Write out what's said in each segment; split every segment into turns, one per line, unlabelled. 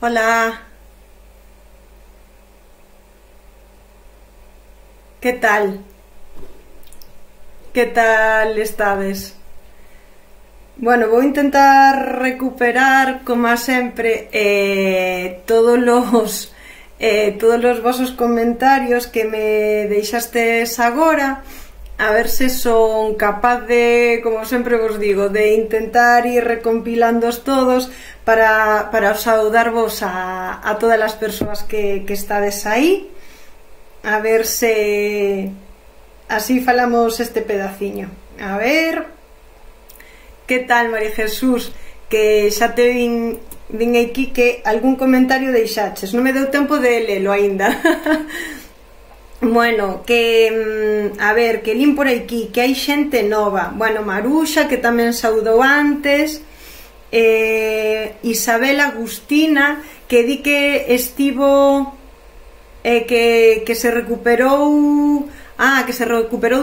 Hola, ¿qué tal? ¿Qué tal estades? Bueno, vou intentar recuperar, como sempre, todos os vosos comentarios que me deixastes agora, a ver se son capaz de, como sempre vos digo, de intentar ir recompilándoos todos para saudarvos a todas as persoas que estades aí, a ver se así falamos este pedaciño. A ver, que tal, María Jesús? Que xa te vin aquí que algún comentario deixaches, non me deu tempo de lelo aínda. Bueno, que a ver, que lin por aquí que hai xente nova. Bueno, Maruxa, que tamén saudou antes, Isabel Agustina, que di que estivo que se recuperou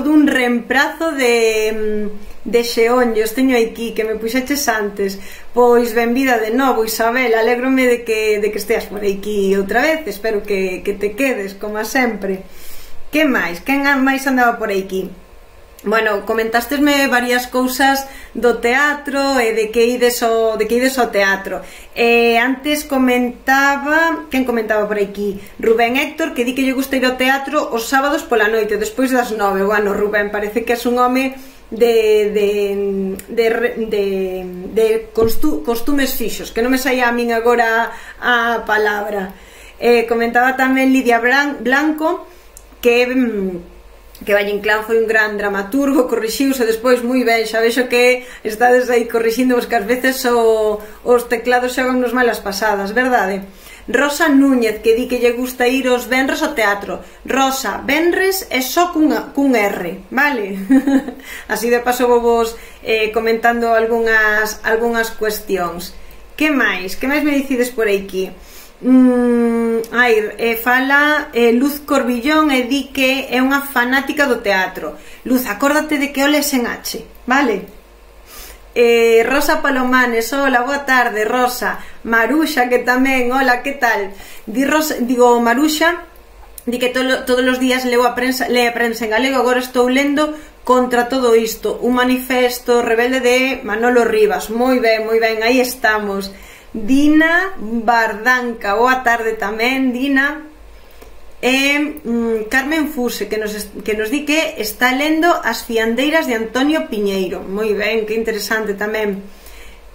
dun reemprazo de xeonllos. Teño aquí que me puxeches antes. Pois benvida de novo, Isabel, alégrome de que esteas por aquí outra vez. Espero que te quedes, como sempre. Que máis? Quen máis andaba por aquí? Bueno, comentastesme varias cousas do teatro e de que ides ao teatro. Antes comentaba, quen comentaba por aquí? Rubén Héctor, que di que lle gusta ir ao teatro os sábados pola noite, despois das 9. Bueno, Rubén, parece que és un home de costumes fixos, que non me saía a min agora a palabra. Comentaba tamén Lidia Blanco, que Valle Inclán foi un gran dramaturgo, corrixiuse despois moi ben, xa vexo que estades aí corrixindo, que ás veces os teclados xogan nos malas pasadas, verdade? Rosa Núñez, que di que lle gusta ir os venres ao teatro. Rosa, venres é só cun R, vale? Así de paso vou vos comentando algunhas cuestións. Que máis? Que máis me dicides por aquí? Fala Luz Corbillón e di que é unha fanática do teatro. Luz, acórdate de que o lees en H, vale? Rosa Palomanes, hola, boa tarde, Rosa. Maruxa, que tamén, hola, que tal? Maruxa di que todos os días lee a prensa en galego. Agora estou lendo Contra todo isto, un manifesto rebelde de Manolo Rivas. Moi ben, aí estamos. Dina Bardanca, boa tarde tamén, Dina. Carmen Fuse, que nos di que está lendo As fiandeiras de Antonio Piñeiro. Moi ben, que interesante tamén.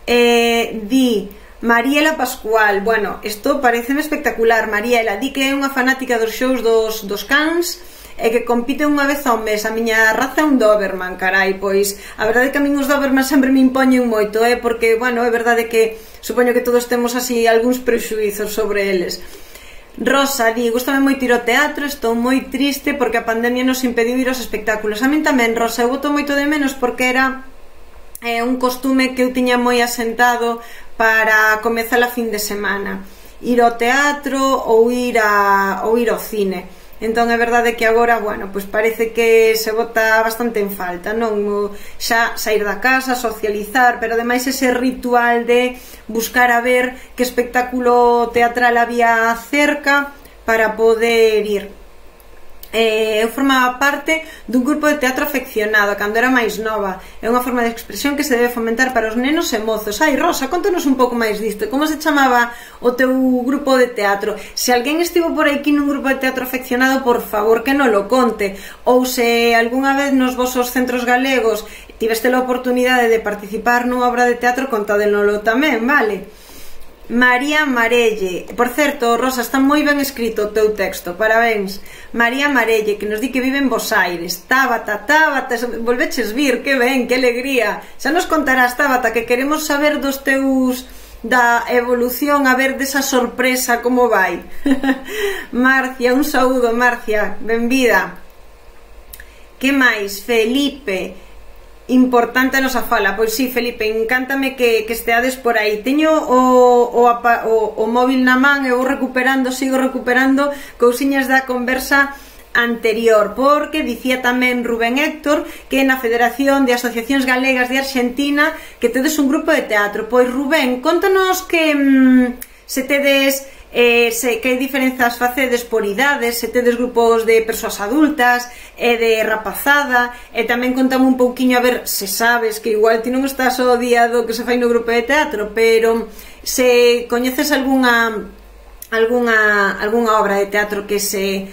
Di Mariela Pascual, bueno, isto pareceme espectacular. Mariela di que é unha fanática dos shows dos cans e que compite unha vez ao mes. A miña raza é un Doberman, carai. Pois a verdade é que a min os Doberman sempre me impoñen moito, porque, bueno, é verdade que supoño que todos temos así algúns prexuizos sobre eles. Rosa di, gustame moito ir ao teatro, estou moi triste porque a pandemia nos impediu ir aos espectáculos. A min tamén, Rosa, eu boto moito de menos porque era un costume que eu tiña moi asentado para comezar a fin de semana, ir ao teatro ou ir ao cine. Entón é verdade que agora, bueno, pois parece que se bota bastante en falta, non? Xa sair da casa, socializar, pero ademais ese ritual de buscar a ver que espectáculo teatral había cerca para poder ir. Eu formaba parte dun grupo de teatro afeccionado cando era máis nova. É unha forma de expresión que se debe fomentar para os nenos e mozos. Ai, Rosa, contanos un pouco máis disto. Como se chamaba o teu grupo de teatro? Se alguén estivo por aquí nun grupo de teatro afeccionado, por favor que non lo conte. Ou se algunha vez nos vosos centros galegos tiveste a oportunidade de participar nunha obra de teatro, contádelo tamén, vale? María Marelle, por certo, Rosa, está moi ben escrito o teu texto, parabéns. María Marelle, que nos di que vive en Bos Aires. Tábata, volveches vir, que ben, que alegría. Xa nos contarás, Tábata, que queremos saber dos teus, da evolución, a ver desa sorpresa como vai. Marcia, un saúdo, Marcia, benvida. Que máis? Felipe, importante a nosa fala. Pois sí, Felipe, encántame que esteades por aí. Teño o móvil na man e sigo recuperando cousiñas da conversa anterior, porque dicía tamén Rubén Héctor que na Federación de Asociacións Galegas de Argentina que tedes un grupo de teatro. Pois Rubén, contanos que se tedes que hai diferenzas facedes por idades, se tedes grupos de persoas adultas e de rapazada, e tamén contame un pouquiño a ver se sabes que igual ti non estás o día do que se fai no grupo de teatro, pero se coñeces algunha obra de teatro que se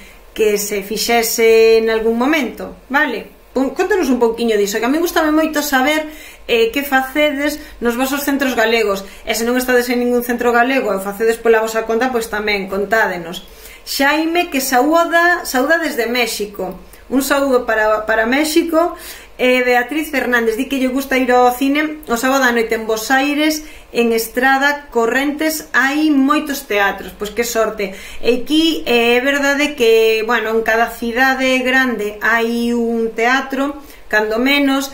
fixese en algún momento, vale? Contanos un pouquiño diso, que a mí gustame moito saber que facedes nos vosos centros galegos, e se non estades en ningún centro galego e facedes pola vosa conta, pois tamén contádenos. Xaime, que saúda desde México, un saúdo para México. Beatriz Fernández di que lle gusta ir ao cine o sábado á noite en Bos Aires, en Estrada, Correntes, hai moitos teatros, pois que sorte. E aquí é verdade que, bueno, en cada cidade grande hai un teatro, cando menos,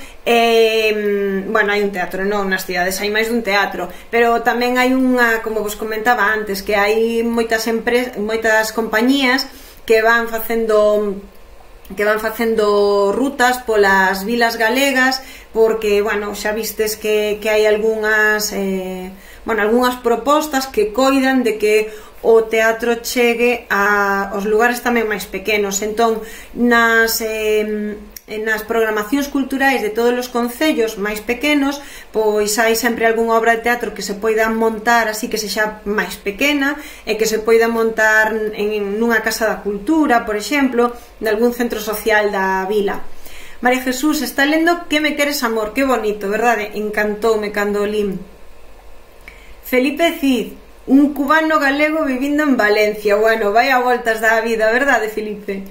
bueno, hai un teatro, non nas cidades, hai máis dun teatro, pero tamén hai unha, como vos comentaba antes, que hai moitas compañías que van facendo rutas polas vilas galegas, porque, bueno, xa vistes que hai algunhas propostas que coidan de que o teatro chegue aos lugares tamén máis pequenos. Entón, nas programacións culturais de todos os concellos máis pequenos, pois hai sempre algunha obra de teatro que se poida montar así que sexa máis pequena e que se poida montar nunha casa da cultura, por exemplo, de algún centro social da vila. María Jesús está lendo Que me queres amor, que bonito, verdade? Encantoume cando o lin. Felipe Cid, un cubano galego vivindo en Valencia. Bueno, vai a voltas da vida, verdade, Felipe?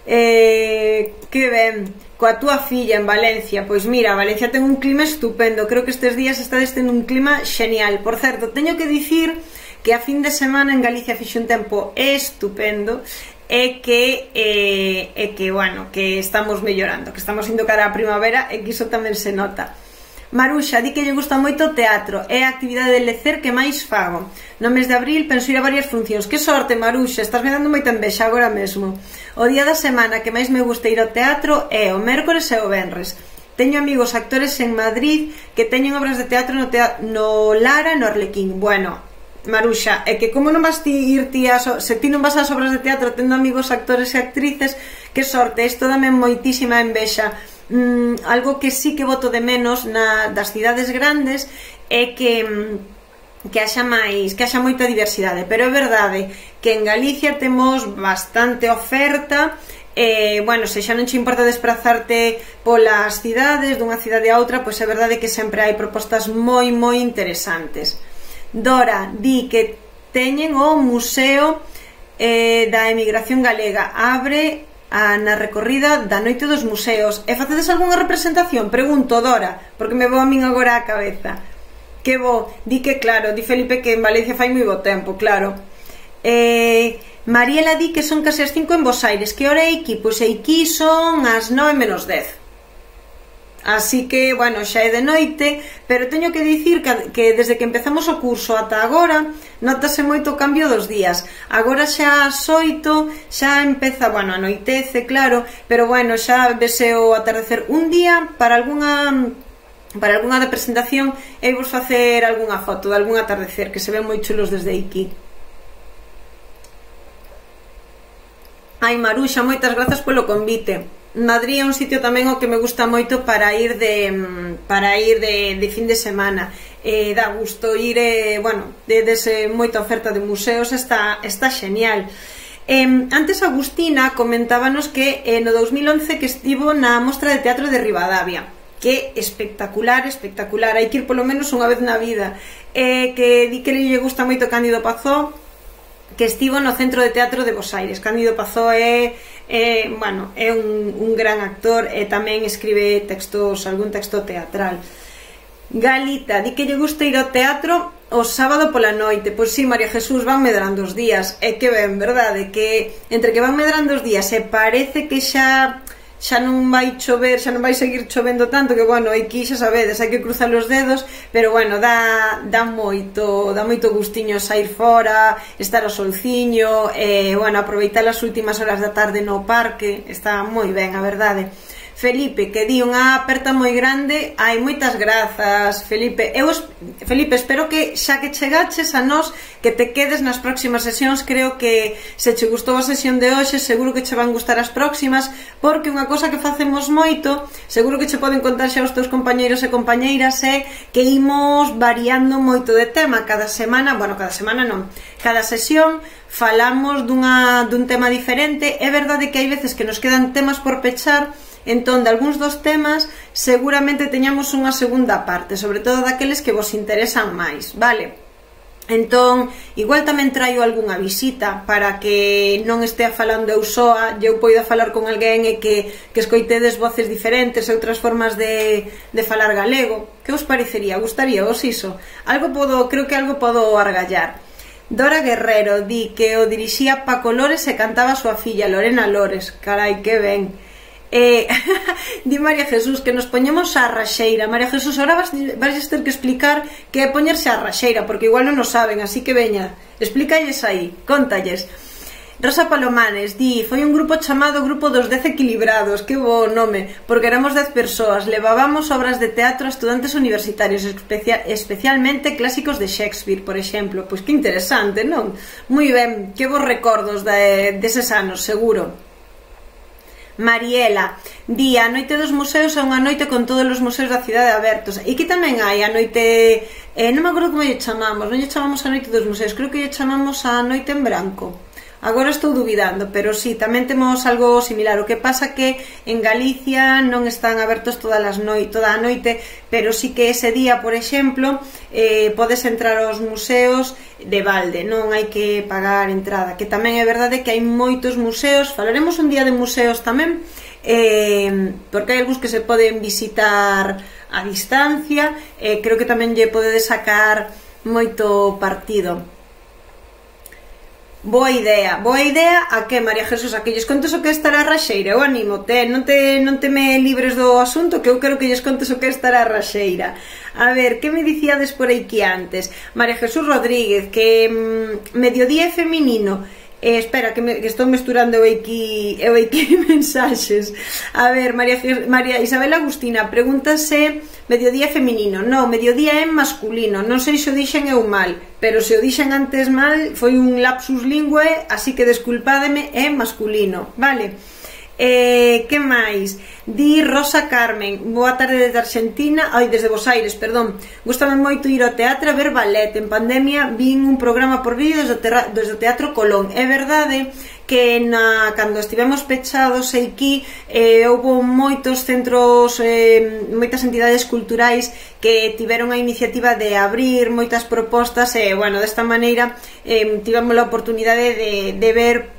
Que ben, coa túa filla en Valencia. Pois mira, Valencia ten un clima estupendo, creo que estes días estades tendo un clima xenial. Por certo, teño que dicir que a fin de semana en Galicia fixe un tempo estupendo e que bueno, que estamos mellorando, que estamos indo cara á primavera e que iso tamén se nota. Maruxa di que lle gusta moito o teatro, é a actividade de lecer que máis fago. No mes de abril penso ir a varias funcións. Que sorte, Maruxa, estás me dando moita envexa agora mesmo. O día da semana que máis me gusta ir ao teatro é o mércores e o venres. Teño amigos actores en Madrid que teñen obras de teatro no Lara e no Arlequín. Bueno, Maruxa, é que como non vas ir ti se ti non vas ás obras de teatro tendo amigos actores e actrices, que sorte, isto dame moitísima envexa. Algo que sí que boto de menos das cidades grandes é que haxa moita diversidade, pero é verdade que en Galicia temos bastante oferta. Bueno, se xa non che importa desplazarte polas cidades dunha cidade a outra, pois é verdade que sempre hai propostas moi interesantes. Dora di que teñen o Museo da Emigración Galega, abre na recorrida da Noite dos Museos. E facedes algunha representación? Pregunto, Dora, porque me vou a min agora á cabeza. Que bo, di que claro, di Felipe que en Valencia fai moi bo tempo, claro. Mariela di que son case as 5 en Bos Aires. Que hora é aquí? Pois aquí son as 9 menos 10. Así que, bueno, xa é de noite, pero teño que dicir que desde que empezamos o curso ata agora notase moito o cambio dos días. Agora xa ás 8 xa empeza, bueno, anoitece, claro, pero bueno, xa vese o atardecer. Un día, para algunha representación, e vos facer algunha foto de algún atardecer que se ven moi chulos desde aquí. Ai, Maruxa, moitas grazas polo convite. Madrid é un sitio tamén o que me gusta moito para ir de fin de semana. Dá gusto ir, bueno, dese moita oferta de museos, está xenial. Antes Agustina comentábanos que no 2011 que estivo na Mostra de Teatro de Ribadavia, que espectacular, hai que ir polo menos unha vez na vida. Que di que lle gusta moito Cándido Pazó, que estivo no Centro de Teatro de Bos Aires. Cándido Pazó é un gran actor e tamén escribe algún texto teatral. Galita di que lle gusta ir ao teatro o sábado pola noite. Pois sí, María Jesús, van medrando os días. E que ben, verdade, que entre que van medrando os días e parece que xa non vai chover, xa non vai seguir chovendo tanto, que bueno, aquí xa sabedes, hai que cruzar os dedos, pero bueno, dá moito gustiño sair fora, estar ao solciño, bueno, aproveitar as últimas horas da tarde no parque, está moi ben, a verdade. Felipe, que di unha aperta moi grande. Ai, moitas grazas, Felipe. Felipe, espero que xa que chegaches a nós, que te quedes nas próximas sesións. Creo que se che gustou a sesión de hoxe, seguro que che van gustar as próximas, porque unha cosa que facemos moito, seguro que che poden contar xa os teus compañeiros e compañeiras, é que imos variando moito de tema cada semana. Bueno, cada semana non, cada sesión falamos dun tema diferente. É verdade que hai veces que nos quedan temas por pechar, entón, de algúns dos temas seguramente teñamos unha segunda parte, sobre todo daqueles que vos interesan máis, vale? Entón, igual tamén traio algunha visita para que non estea falando eu soa, eu poida falar con alguén e que escoitedes voces diferentes e outras formas de falar galego. Que vos parecería? Gustaría vos iso? Creo que algo podo argallar. Dora Guerrero di que o dirixía Paco Lores e cantaba a súa filla Lorena Lores. Carai, que ben. Di María Jesús que nos poñemos a raxeira. María Jesús, ahora vas ter que explicar que é poñerse a raxeira, porque igual non o saben, así que veña, explícalles aí, contalles. Rosa Palomanes di, foi un grupo chamado Grupo dos 10 Equilibrados. Que bo nome, porque éramos 10 persoas, levábamos obras de teatro a estudantes universitarios, especialmente clásicos de Shakespeare, por exemplo. Pois que interesante, non? Moi ben, que vos recordos deses anos, seguro. Mariela di, a noite dos museos é unha noite con todos os museos da cidade abertos. E que tamén hai a noite, non me acordo como lle chamamos, non lle chamamos a noite dos museos, creo que lle chamamos a noite en branco. Agora estou dubidando, pero sí, tamén temos algo similar. O que pasa que en Galicia non están abertos toda a noite, pero sí que ese día, por exemplo, podes entrar aos museos de balde, non hai que pagar entrada. Que tamén é verdade que hai moitos museos, falaremos un día de museos tamén, porque hai algúns que se poden visitar a distancia, creo que tamén lle podedes sacar moito partido. Boa idea a que, María Jesús, a que lles contes o que estar a raxeira. Eu anímote, non te me libres do asunto, que eu quero que lles contes o que estar a raxeira. A ver, que me dicíades por aquí antes? María Jesús Rodríguez, que mediodía é feminino. Espera, que estou mesturando eu aquí mensaxes. A ver, María Isabel Agustina pregúntase mediodía feminino. Non, mediodía é masculino. Non sei se o dixen eu mal, pero se o dixen antes mal foi un lapsus linguae, así que desculpádeme, é masculino, vale? Que máis? Di Rosa Carmen, boa tarde desde Argentina, desde Bos Aires, perdón. Gústame moito ir ao teatro a ver ballet. En pandemia vin un programa por vídeo desde o Teatro Colón. É verdade que cando estivemos pechados aquí houve moitos centros, moitas entidades culturais que tiveron a iniciativa de abrir moitas propostas e, bueno, desta maneira tivemos a oportunidade de ver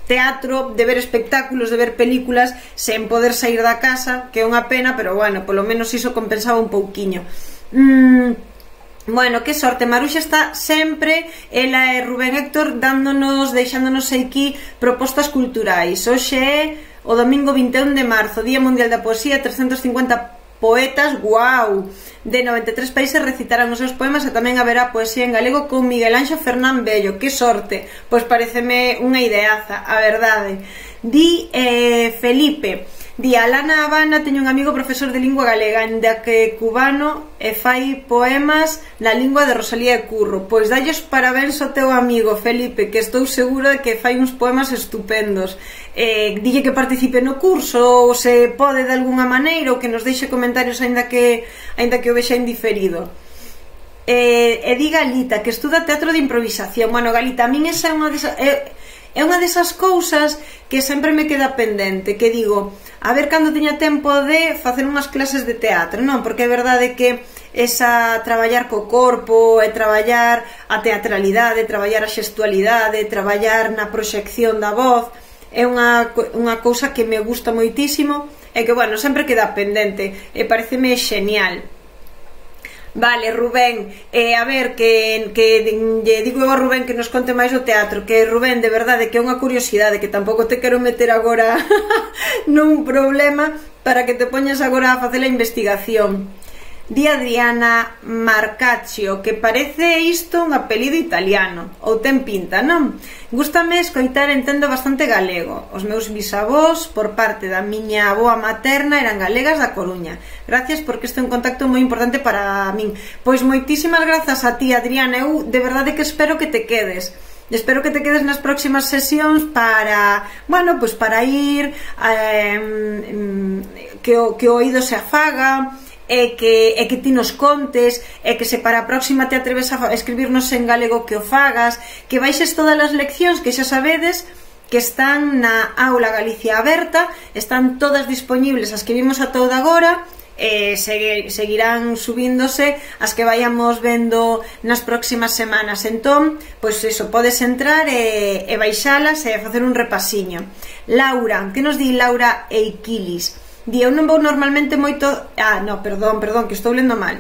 teatro, de ver espectáculos, de ver películas sen poder sair da casa, que é unha pena, pero, bueno, polo menos iso compensaba un pouquiño. Bueno, que sorte, Maruxa está sempre, ela e Rubén Héctor deixándonos aquí propostas culturais. Hoxe é o domingo 21 de marzo, Día Mundial da Poesía, 350 poetas, guau, de 93 países recitarán os seus poemas e tamén haberá poesía en galego con Miguel Anxo Fernán Bello. Que sorte, pois pareceme unha ideaza, a verdade. Di Felipe, di, a Lana Habana teño un amigo profesor de lingua galega, ainda que cubano, e fai poemas na lingua de Rosalía e Curro. Pois dalles parabéns ao teu amigo Felipe, que estou segura de que fai uns poemas estupendos. Dille que participe no curso, ou se pode de alguna maneira, ou que nos deixe comentarios aínda que o vexa indiferido. E di Galita, que estuda teatro de improvisación. Bueno, Galita, a min esa é unha desas cousas que sempre me queda pendente, que digo, a ver cando teña tempo de facer unhas clases de teatro, non? Porque é verdade que esa traballar co corpo, e traballar a teatralidade, traballar a xestualidade, traballar na proxección da voz, é unha cousa que me gusta moitísimo e que, bueno, sempre queda pendente e pareceme genial. Vale, Rubén, a ver, que lle digo eu a Rubén que nos conte máis do teatro, que Rubén, de verdade, que é unha curiosidade, que tampouco te quero meter agora nun problema para que te poñas agora a facer a investigación. Di Adriana Marcaccio, que parece isto un apelido italiano, ou ten pinta, non? Gústame escoitar, entendo bastante galego. Os meus bisavós, por parte da miña avoa materna, eran galegas da Coruña. Gracias, porque este é un contacto moi importante para min. Pois moitísimas grazas a ti, Adriana. Eu de verdade que espero que te quedes. Espero que te quedes nas próximas sesións para, bueno, pois para ir que o oído se afaga, e que ti nos contes, e que se para a próxima te atreves a escribirnos en galego que o fagas, que baixes todas as leccións que xa sabedes que están na aula Galicia Aberta, están todas disponibles as que vimos a toda agora, seguirán subíndose as que vayamos vendo nas próximas semanas. Entón, pois eso, podes entrar e baixalas e facer un repasiño. Laura, que nos di Laura Eiquilis? Di, eu non vou normalmente moito... perdón, que estou lendo mal.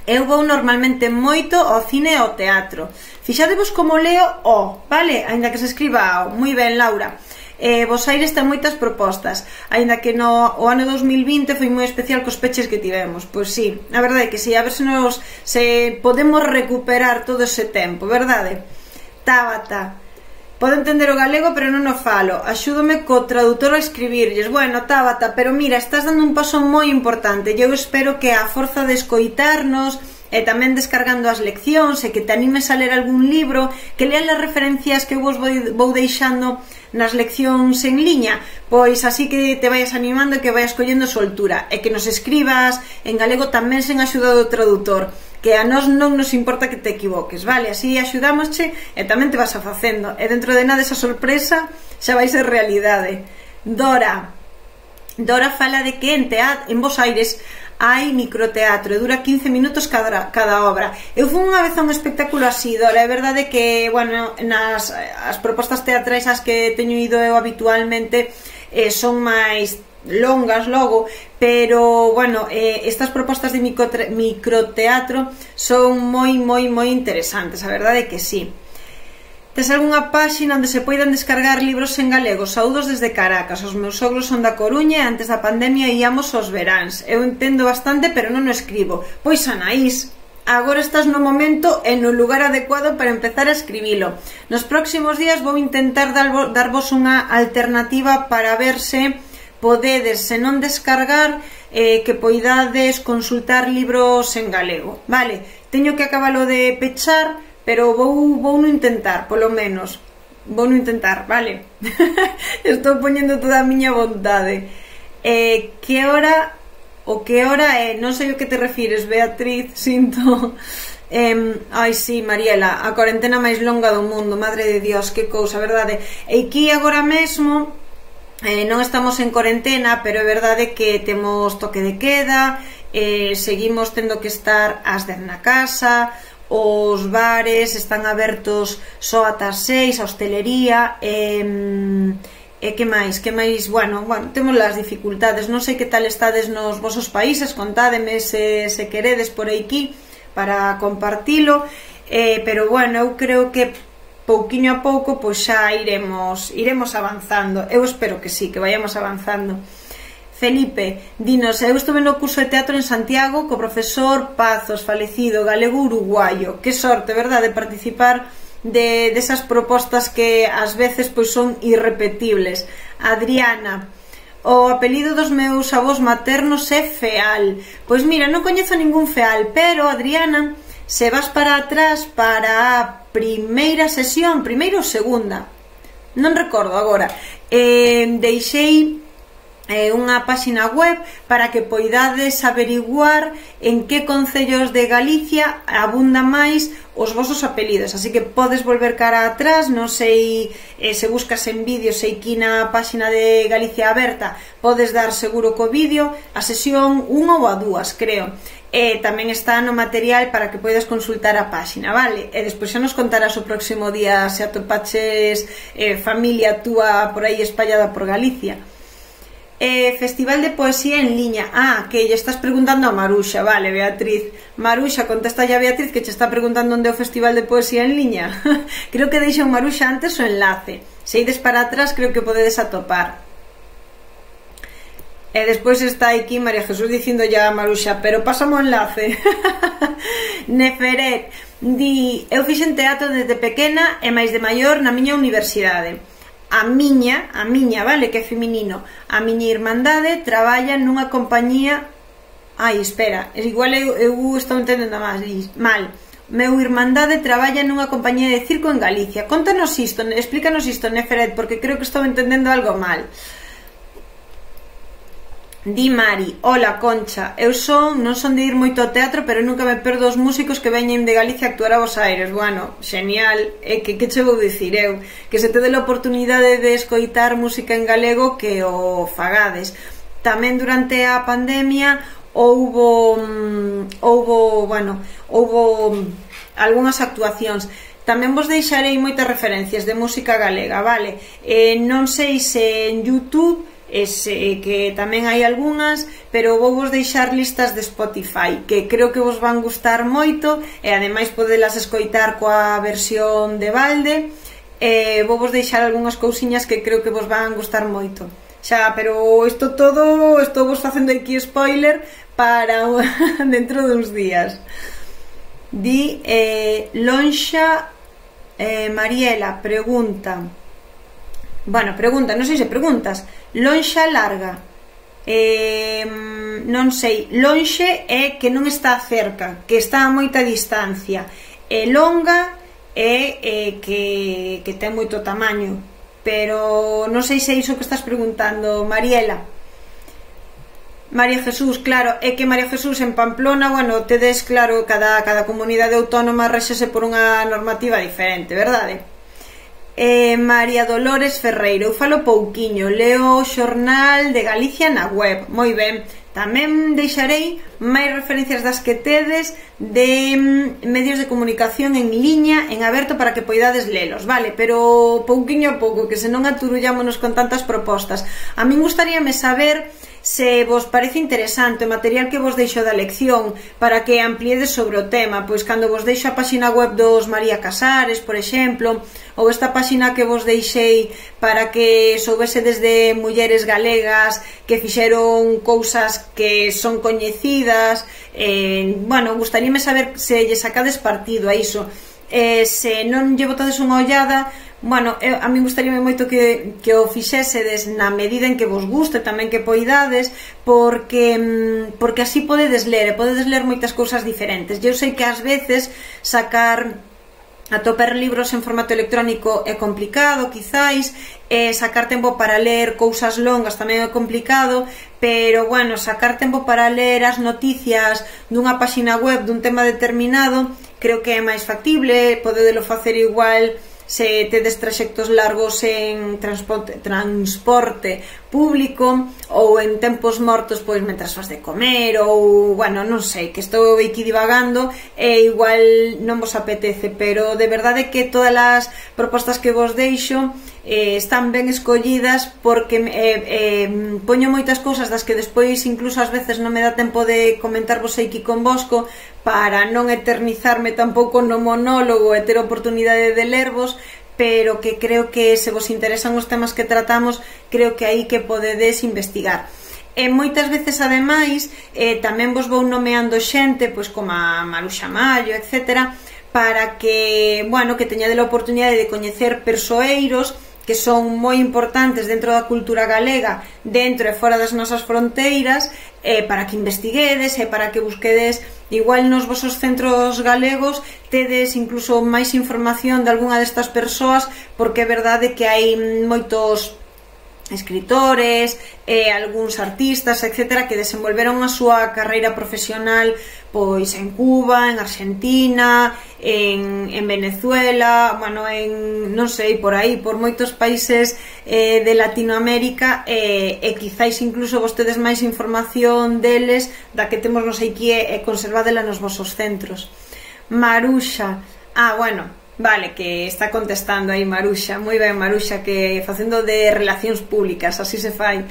Eu vou normalmente moito ao cine e ao teatro. Fixadevos como leo o, vale? Ainda que se escriba o. Moi ben, Laura. Vos Aires ten moitas propostas, aínda que o ano 2020 foi moi especial cos peches que tivemos. Pois sí, a verdade é que sí, a ver se podemos recuperar todo ese tempo, verdade? Tabata, podo entender o galego, pero non o falo. Axúdome co traductor a escribirlles. Bueno, Tabata, pero mira, estás dando un paso moi importante. Eu espero que a forza de escoitarnos e tamén descargando as leccións e que te animes a ler algún libro, que leas as referencias que vos vou deixando nas leccións en liña, pois así que te vayas animando e que vayas collendo soltura, e que nos escribas en galego tamén sen axuda do traductor, que a nós non nos importa que te equivoques, vale? Así axudámosche e tamén te vas a facendo, e dentro de nada esa sorpresa xa vai ser realidade. Dora fala de que en Bos Aires hai microteatro e dura 15 minutos cada obra. Eu fui unha vez a un espectáculo así, Dora. É verdade que, bueno, as propostas teatrais as que teño ido eu habitualmente son máis longas logo, pero, bueno, estas propostas de microteatro son moi interesantes, a verdade é que sí. Tes algunha páxina onde se poidan descargar libros en galego? Saúdos desde Caracas. Os meus sogros son da Coruña e antes da pandemia íamos aos veráns. Eu entendo bastante, pero non o escribo. Pois, Anaís, agora estás no momento e no lugar adecuado para empezar a escribilo. Nos próximos días vou intentar darvos unha alternativa para ver se podedes, se non descargar, que poidades consultar libros en galego. Vale, teño que acabalo de pechar, pero vou no intentar, polo menos. Vou no intentar, vale? Estou poñendo toda a miña vontade. Que hora é? Non sei o que te refires, Beatriz, sinto. Ai, sí, Mariela, a cuarentena máis longa do mundo, madre de Dios, que cousa, verdade? E aquí agora mesmo non estamos en cuarentena, pero é verdade que temos toque de queda, seguimos tendo que estar ás 10 na casa, os bares están abertos só ata as 6, a hostelería, e que máis? Bueno, temos as dificultades. Non sei que tal estades nos vosos países, contádeme se queredes por aquí para compartilo, pero bueno, eu creo que pouquiño a pouco pois xa iremos avanzando. Eu espero que sí, que vayamos avanzando. Felipe, dinos, eu estuve no curso de teatro en Santiago co profesor Pazos, falecido, galego uruguayo. Que sorte, verdade, de participar desas propostas que ás veces pois son irrepetibles. Adriana, o apelido dos meus avós maternos é Feal. Pois mira, non coñezo ningún Feal, pero, Adriana, se vas para atrás para a primeira sesión, primeira ou segunda, non recordo agora, deixei unha páxina web para que poidades averiguar en que concellos de Galicia abunda máis os vosos apelidos, así que podes volver cara atrás. Non sei se buscas en vídeo, sei que na páxina de Galicia Aberta podes dar seguro co vídeo a sesión 1 ou a 2, creo. Tamén está no material para que poidas consultar a páxina, vale? E despois xa nos contarás o próximo día se atopaches familia túa por aí espallada por Galicia. Festival de poesía en liña. Que lle estás preguntando a Maruxa, vale, Beatriz. Maruxa, contesta ya a Beatriz que che está preguntando onde é o festival de poesía en liña. Creo que deixou Maruxa antes o enlace. Se ides para atrás creo que podedes atopar. E despois está aquí María Jesús dicindo ya a Maruxa, pero pásame o enlace. Neferet di, eu fixen teatro desde pequena e máis de maior na miña universidade. A miña, vale, que é feminino, a miña irmandade traballa nunha compañía. Ai, espera, igual eu estou entendendo mal. Meu irmandade traballa nunha compañía de circo en Galicia. Contanos isto, explícanos isto, Neferet, porque creo que estou entendendo algo mal. Di Mari, hola Concha, eu non son de ir moito ao teatro, pero nunca me perdo os músicos que veñen de Galicia a actuar a Bos Aires. Bueno, genial, que che vou dicir eu? Que se te dé a oportunidade de escoitar música en galego, que o fagades. Tamén durante a pandemia houbo algunhas actuacións. Tamén vos deixarei moitas referencias de música galega, vale? Non sei se en YouTube, que tamén hai algunhas, pero vou vos deixar listas de Spotify que creo que vos van gustar moito, e ademais podelas escoitar coa versión de balde. Vou vos deixar algunhas cousiñas que creo que vos van gustar moito. Xa, pero isto todo, estou vos facendo aquí spoiler para dentro duns días. Di Lonxa Mariela, pregunta, non sei se preguntas. Lonxa larga, non sei, lonxe é que non está cerca, que está a moita distancia, e longa é que ten moito tamaño, pero non sei se é iso que estás preguntando, Mariela. María Jesús, claro, é que María Jesús en Pamplona, bueno, tedes claro, cada comunidade autónoma réxese por unha normativa diferente, verdade? María Dolores Ferreiro, eu falo pouquiño, leo o xornal de Galicia na web, moi ben. Tamén deixarei máis referencias das que tedes de medios de comunicación en liña, en aberto, para que poidades lelos, vale? Pero pouquiño a pouco, que senón aturullámonos con tantas propostas. A min gustaríame saber se vos parece interesante o material que vos deixo da lección, para que ampliedes sobre o tema, pois cando vos deixo a páxina web dos María Casares, por exemplo, ou esta páxina que vos deixei para que soubesedes de mulleres galegas que fixeron cousas que son coñecidas. Bueno, gustaríame saber se lle sacades partido a iso. Se non lle botades unha ollada, bueno, a mí gustaríame moito que o fixésedes na medida en que vos guste, tamén que poidades, porque así podedes ler moitas cousas diferentes. Eu sei que ás veces atopar libros en formato electrónico é complicado, quizáis, sacar tempo para ler cousas longas tamén é complicado, pero, bueno, sacar tempo para ler as noticias dunha páxina web dun tema determinado creo que é máis factible. Podedelo facer igual se tedes traxectos largos en transporte público, ou en tempos mortos, pois mentras vas de comer, ou, bueno, non sei, que estou aquí divagando e igual non vos apetece, pero de verdade que todas as propostas que vos deixo están ben escollidas, porque poño moitas cousas das que despois incluso ás veces non me dá tempo de comentarvos aquí convosco, para non eternizarme tampouco no monólogo e ter oportunidade de lervos, pero que creo que se vos interesan os temas que tratamos, creo que aí que podedes investigar. E moitas veces, ademais, tamén vos vou nomeando xente, pois como a Maruxa Mallo, etc., para que, bueno, que teñade a oportunidade de coñecer persoeiros que son moi importantes dentro da cultura galega, dentro e fora das nosas fronteiras, para que investiguedes e para que busquedes, igual nos vosos centros galegos tedes incluso máis información de algunha destas persoas, porque é verdade que hai moitos escritores, algúns artistas, etc., que desenvolveron a súa carreira profesional pois en Cuba, en Argentina, en Venezuela, bueno, non sei, por aí, por moitos países de Latinoamérica, e quizáis incluso vos tedes máis información deles da que temos nos aquí e conservadela nos vosos centros. Maruxa, bueno, vale, que está contestando aí Maruxa, moi ben Maruxa, que facendo de relacións públicas, así se fai.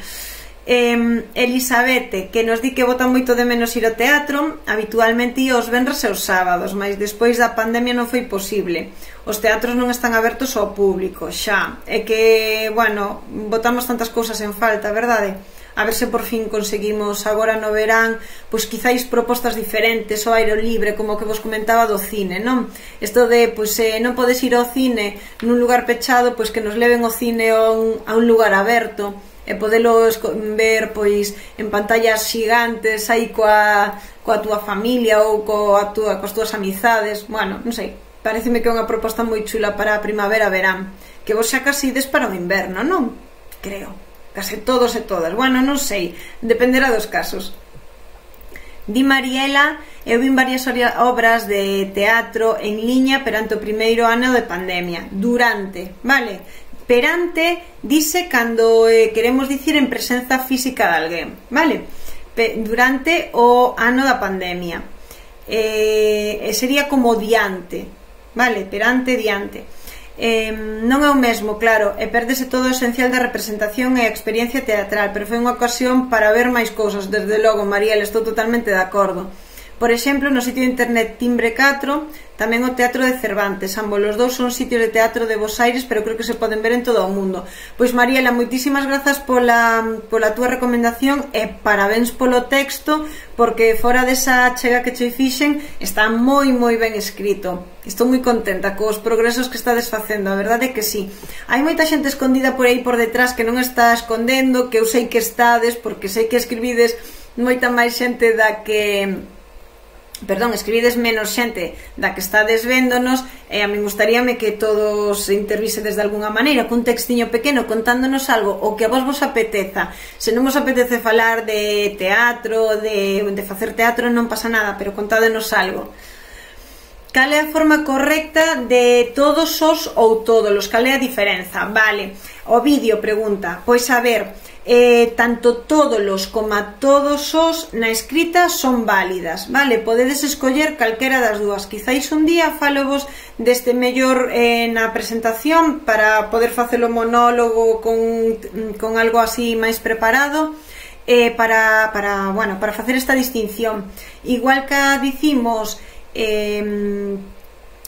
Elisabete, que nos di que bota moito de menos ir ao teatro, habitualmente ia os venres e os sábados, mas despois da pandemia non foi posible. Os teatros non están abertos ao público, xa, é que, bueno, botamos tantas cousas en falta, verdade? a ver se por fin conseguimos agora no verán, pois quizáis propostas diferentes ao aire libre, como que vos comentaba do cine, non? Isto de, pois, non podes ir ao cine nun lugar pechado, pois que nos leven ao cine a un lugar aberto, e podelo ver, pois, en pantallas xigantes aí coa túa familia ou coas túas amizades. Bueno, non sei, pareceme que é unha proposta moi chula para a primavera-verán, que vos xa casi ides para o inverno, non? Creo, case todos e todas. Bueno, non sei, dependerá dos casos. Di Mariela, eu vin varias obras de teatro en liña perante o primeiro ano de pandemia. Durante, vale? Perante dice cando queremos dicir en presenza física de alguén, vale? Durante o ano da pandemia, sería como diante, vale? Perante, diante. Non é o mesmo, claro, e perdese todo o esencial da representación e a experiencia teatral, pero foi unha ocasión para ver máis cousas. Desde logo, Mariel, estou totalmente de acordo. Por exemplo, no sitio de internet Timbre 4, tamén o Teatro de Cervantes. Ambos os dous son sitios de teatro de Bos Aires, pero creo que se poden ver en todo o mundo. Pois, Mariela, moitísimas grazas pola túa recomendación e parabéns polo texto, porque fora desa chega que che fixen está moi ben escrito. Estou moi contenta cos progresos que estades facendo, a verdade é que sí. Hai moita xente escondida por aí por detrás que non está escondendo, que eu sei que estades, porque sei que escribides moita máis xente da que... Perdón, escribides menos xente da que estades véndonos, e a mí gustaríame que todos intervísedes de alguna maneira, cun textiño pequeno contándonos algo, o que a vos apeteza. Se non vos apetece falar de teatro, de facer teatro, non pasa nada, pero contádenos algo. Cal é a forma correcta de todos os ou tódolos? Cal é a diferenza? Vale, o vídeo pregunta, pois a ver... tanto tódolos como todos os na escrita son válidas, vale? Podedes escoller calquera das dúas. Quizáis un día falo vos deste mellor na presentación para poder facer o monólogo con algo así máis preparado, para facer esta distinción. Igual que dicimos,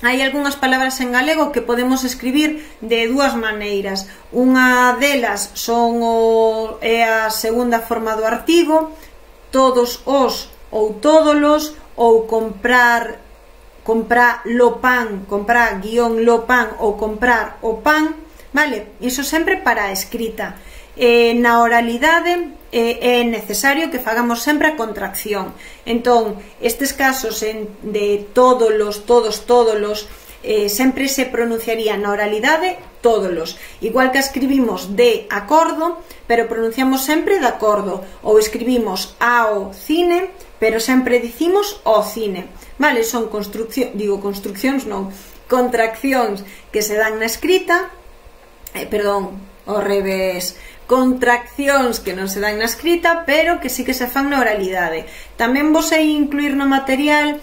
hai algunhas palabras en galego que podemos escribir de dúas maneiras. Unha delas é a segunda forma do artigo, todos os ou tódolos, ou comprar lo pan, comprar guión lo pan, ou comprar o pan, vale? Iso sempre para a escrita. Na oralidade é necesario que fagamos sempre a contracción. Entón, estes casos de tódolos, tódolos, sempre se pronunciaría na oralidade tódolos, igual que escribimos de acordo, pero pronunciamos sempre de acordo, ou escribimos ao cine, pero sempre dicimos o cine, vale? Son contraccións que se dan na escrita, ao revés, contraccións que non se dan na escrita, pero que sí que se fan na oralidade. Tamén vos hai incluir no material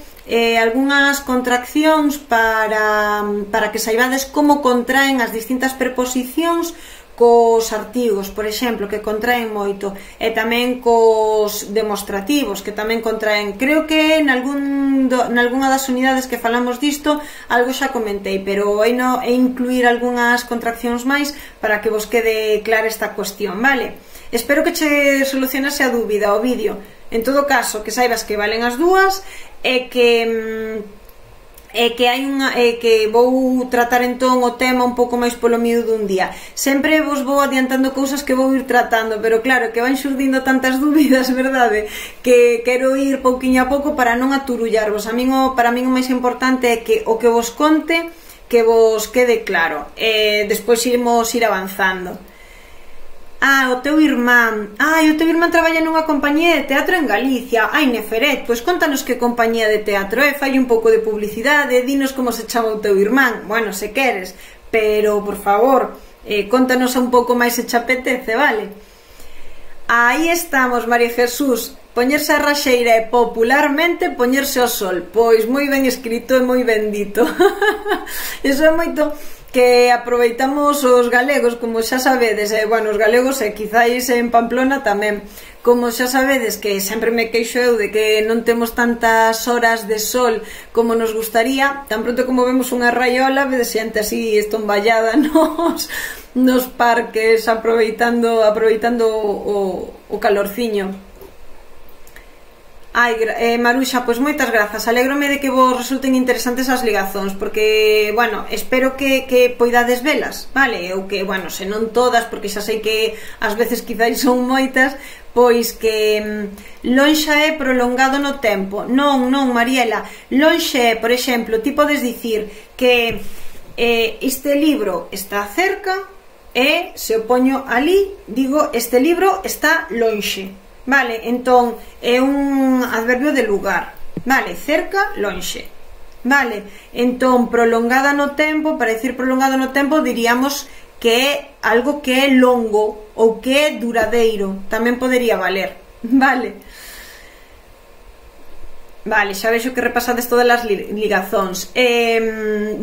algunhas contraccións para que saibades como contraen as distintas preposicións cos artigos, por exemplo, que contraen moito, e tamén cos demostrativos, que tamén contraen. Creo que nalgúna das unidades que falamos disto algo xa comentei, pero hai incluir algunhas contraccións máis para que vos quede clara esta cuestión, vale? Espero que che solucionase a dúbida o vídeo. En todo caso, que saibas que valen as dúas e que vou tratar entón o tema un pouco máis polo miúdo dun día. Sempre vos vou adiantando cousas que vou ir tratando, pero claro, que van xurdindo tantas dúbidas, verdade? Que quero ir pouquiño a pouco para non aturullarvos. Para min o máis importante é que o que vos conte que vos quede claro, e despois iremos avanzando. O teu irmán traballa nunha compañía de teatro en Galicia. Neferet, pois contanos que compañía de teatro é, fai un pouco de publicidade, dinos como se chama o teu irmán, bueno, se queres, pero, por favor, contanos un pouco máis se che apetece, vale? Aí estamos, María Jesús, poñerse a raxeira e popularmente poñerse ao sol. Pois moi ben escrito e moi ben dito. Iso é moito que aproveitamos os galegos, como xa sabedes, bueno, os galegos e quizáis en Pamplona tamén, como xa sabedes que sempre me queixo eu de que non temos tantas horas de sol como nos gustaría, tan pronto como vemos unha raiola, vedes xente así estomballada nos parques aproveitando o calorciño. Ai, Maruxa, pois moitas grazas, alégrome de que vos resulten interesantes as ligazóns, porque, bueno, espero que poidades velas, vale, ou que, bueno, se non todas, porque xa sei que ás veces quizáis son moitas, pois que lonxa é prolongado no tempo. Non, Mariela, lonxe é, por exemplo, ti podes dicir que este libro está cerca e se o poño ali, digo, este libro está lonxe. Vale, entón é un adverbio de lugar, vale, cerca, lonxe. Vale, entón prolongada no tempo, para dicir prolongado no tempo diríamos que é algo que é longo ou que é duradeiro, tamén podería valer, vale. Vale, xa vexo que repasades todas as ligazóns.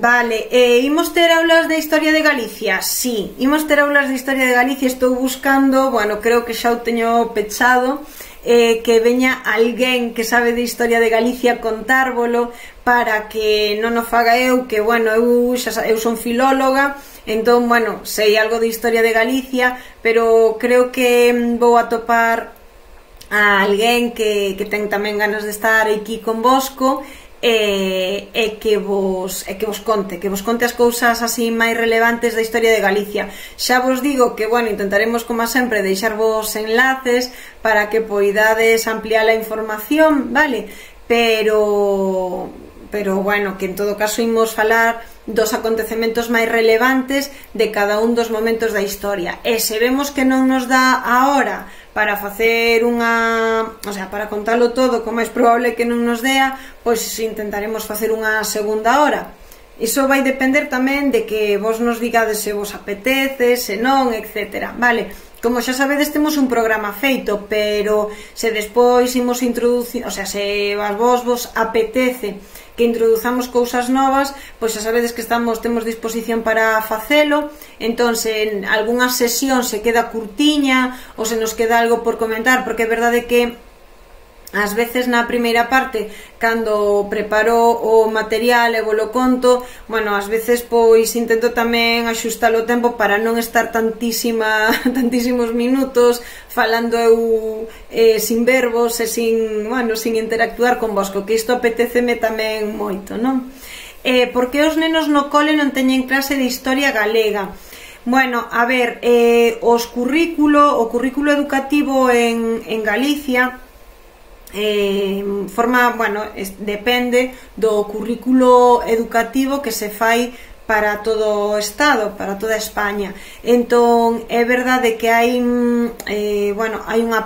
Vale, imos ter aulas de Historia de Galicia? Sí, imos ter aulas de Historia de Galicia. Estou buscando, bueno, creo que xa o teño pechado, que veña alguén que sabe de Historia de Galicia contárvolo para que non o faga eu, que, bueno, eu son filóloga, entón, bueno, sei algo de Historia de Galicia, pero creo que vou atopar a alguén que ten tamén ganas de estar aquí convosco e que vos conte as cousas así máis relevantes da historia de Galicia. Xa vos digo que, bueno, intentaremos como sempre deixarvos enlaces para que poidades ampliar a información, vale? Pero bueno, que en todo caso imos falar dos acontecementos máis relevantes de cada un dos momentos da historia, e se vemos que non nos dá a hora para facer para contalo todo, como é probable que non nos dea, pois intentaremos facer unha segunda hora. Iso vai depender tamén de que vos nos digades se vos apetece, se non, etc. Vale, como xa sabedes temos un programa feito, pero se despois imos introducir, se a vos apetece que introduzamos cousas novas, pois xa sabedes que temos disposición para facelo. Entón, se en algunha sesión se queda curtiña ou se nos queda algo por comentar, porque é verdade que ás veces na primeira parte, cando preparo o material e volo conto, bueno, ás veces pois intento tamén axustar o tempo para non estar tantísimos minutos falando eu sin verbos e sin interactuar con vos, que isto apetéceme tamén moito, non? Por que os nenos no cole non teñen clase de historia galega? Bueno, a ver, o currículo educativo en Galicia depende do currículo educativo que se fai para todo o Estado, para toda España. Entón, é verdade que hai unha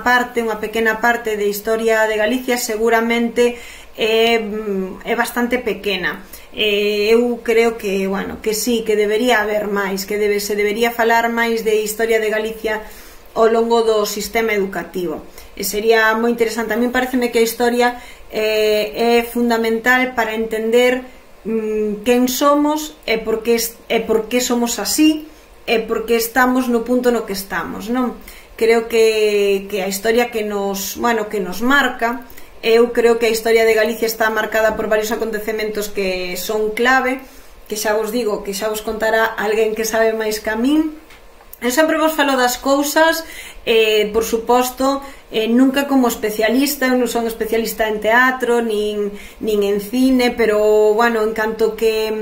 pequena parte de historia de Galicia, seguramente é bastante pequena. Eu creo que sí, que debería haber máis, que se debería falar máis de historia de Galicia ao longo do sistema educativo. Sería moi interesante. A mí pareceme que a historia é fundamental para entender quen somos e por que somos así e por que estamos no punto no que estamos, non? Creo que a historia que nos marca, eu creo que a historia de Galicia está marcada por varios acontecementos que son clave, que xa vos digo, que xa vos contará alguén que sabe máis que a min. Eu sempre vos falo das cousas, por suposto, nunca como especialista. Eu non son especialista en teatro nin en cine, pero, en canto que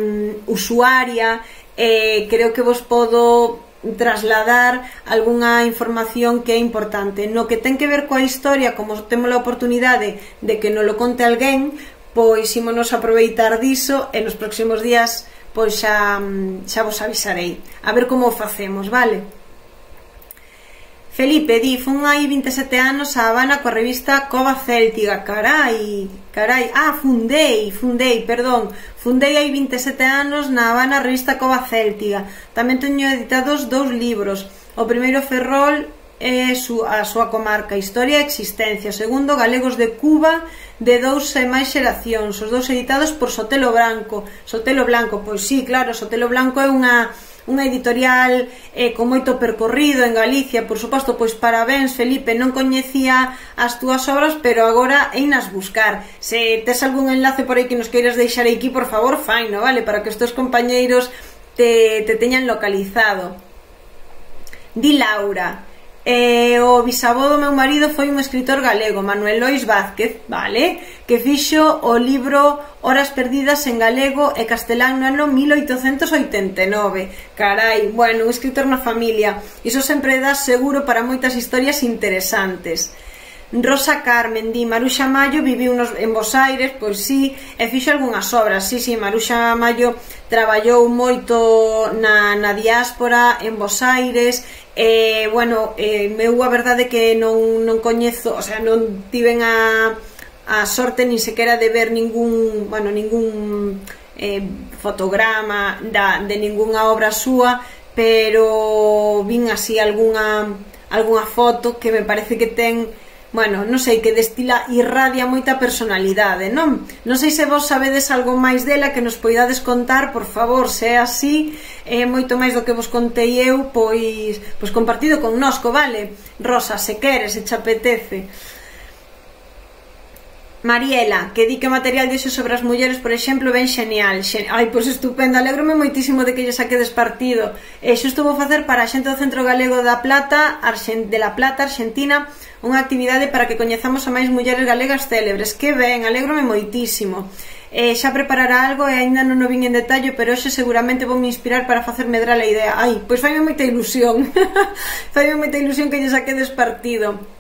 usuaria, creo que vos podo trasladar algunha información que é importante. No que ten que ver coa historia, como temos a oportunidade de que nos lo conte alguén, pois ímonos aproveitar diso e nos próximos días pois xa vos avisarei a ver como o facemos, vale? Felipe di, fun hai 27 anos a Habana coa revista Cova Céltica. Carai, fundei hai 27 anos na Habana a revista Cova Céltica. Tamén teño editados 2 libros. O primeiro Ferrol a súa comarca, Historia e Existencia. O segundo, Galegos de Cuba, de 2 e máis xeracións, os dous editados por Sotelo Blanco. Sotelo Blanco, pois sí, claro, Sotelo Blanco é unha editorial con moito percorrido en Galicia, por suposto. Pois parabéns, Felipe, non coñecía as túas obras, pero agora einas buscar. Se tes algún enlace por aí que nos queiras deixar aquí, por favor, faino, vale, para que os teus compañeiros te teñan localizado. Di Laura, o bisavó do meu marido foi un escritor galego, Manuel Lois Vázquez, vale, que fixo o libro Horas perdidas en galego e castelán no ano 1889. Carai, bueno, un escritor na familia, iso sempre dá seguro para moitas historias interesantes. Rosa Carmen di, Maruxa Mallo viviu en Bos Aires, pois sí, e fixo algunhas obras. Sí, Maruxa Mallo traballou moito na diáspora en Bos Aires. Bueno, meu a verdade que non coñezo, o sea, non tiven a sorte ni sequera de ver ningún fotograma de ningunha obra súa, pero vin así algunha foto que me parece que ten, bueno, non sei, que destila, irradia moita personalidade, non? Non sei se vos sabedes algo máis dela que nos poidades contar, por favor. Se é así, moito máis do que vos contei eu, pois compartido connosco, vale? Rosa, se queres, se te apetece. Mariela, que di que material dixo sobre as mulleres, por exemplo, ben xenial. Ai, pois estupendo, alégrome moitísimo de que lle saquedes partido. Xusto vou facer para a xente do Centro Galego de La Plata, Argentina, unha actividade para que coñezamos a máis mulleres galegas célebres. Que ben, alégrome moitísimo. Xa preparará algo e aínda non o vin en detalle, pero hoxe seguramente vou me inspirar para facer medrar a idea. Ai, pois faime moita ilusión. Faime moita ilusión que lle saquedes partido.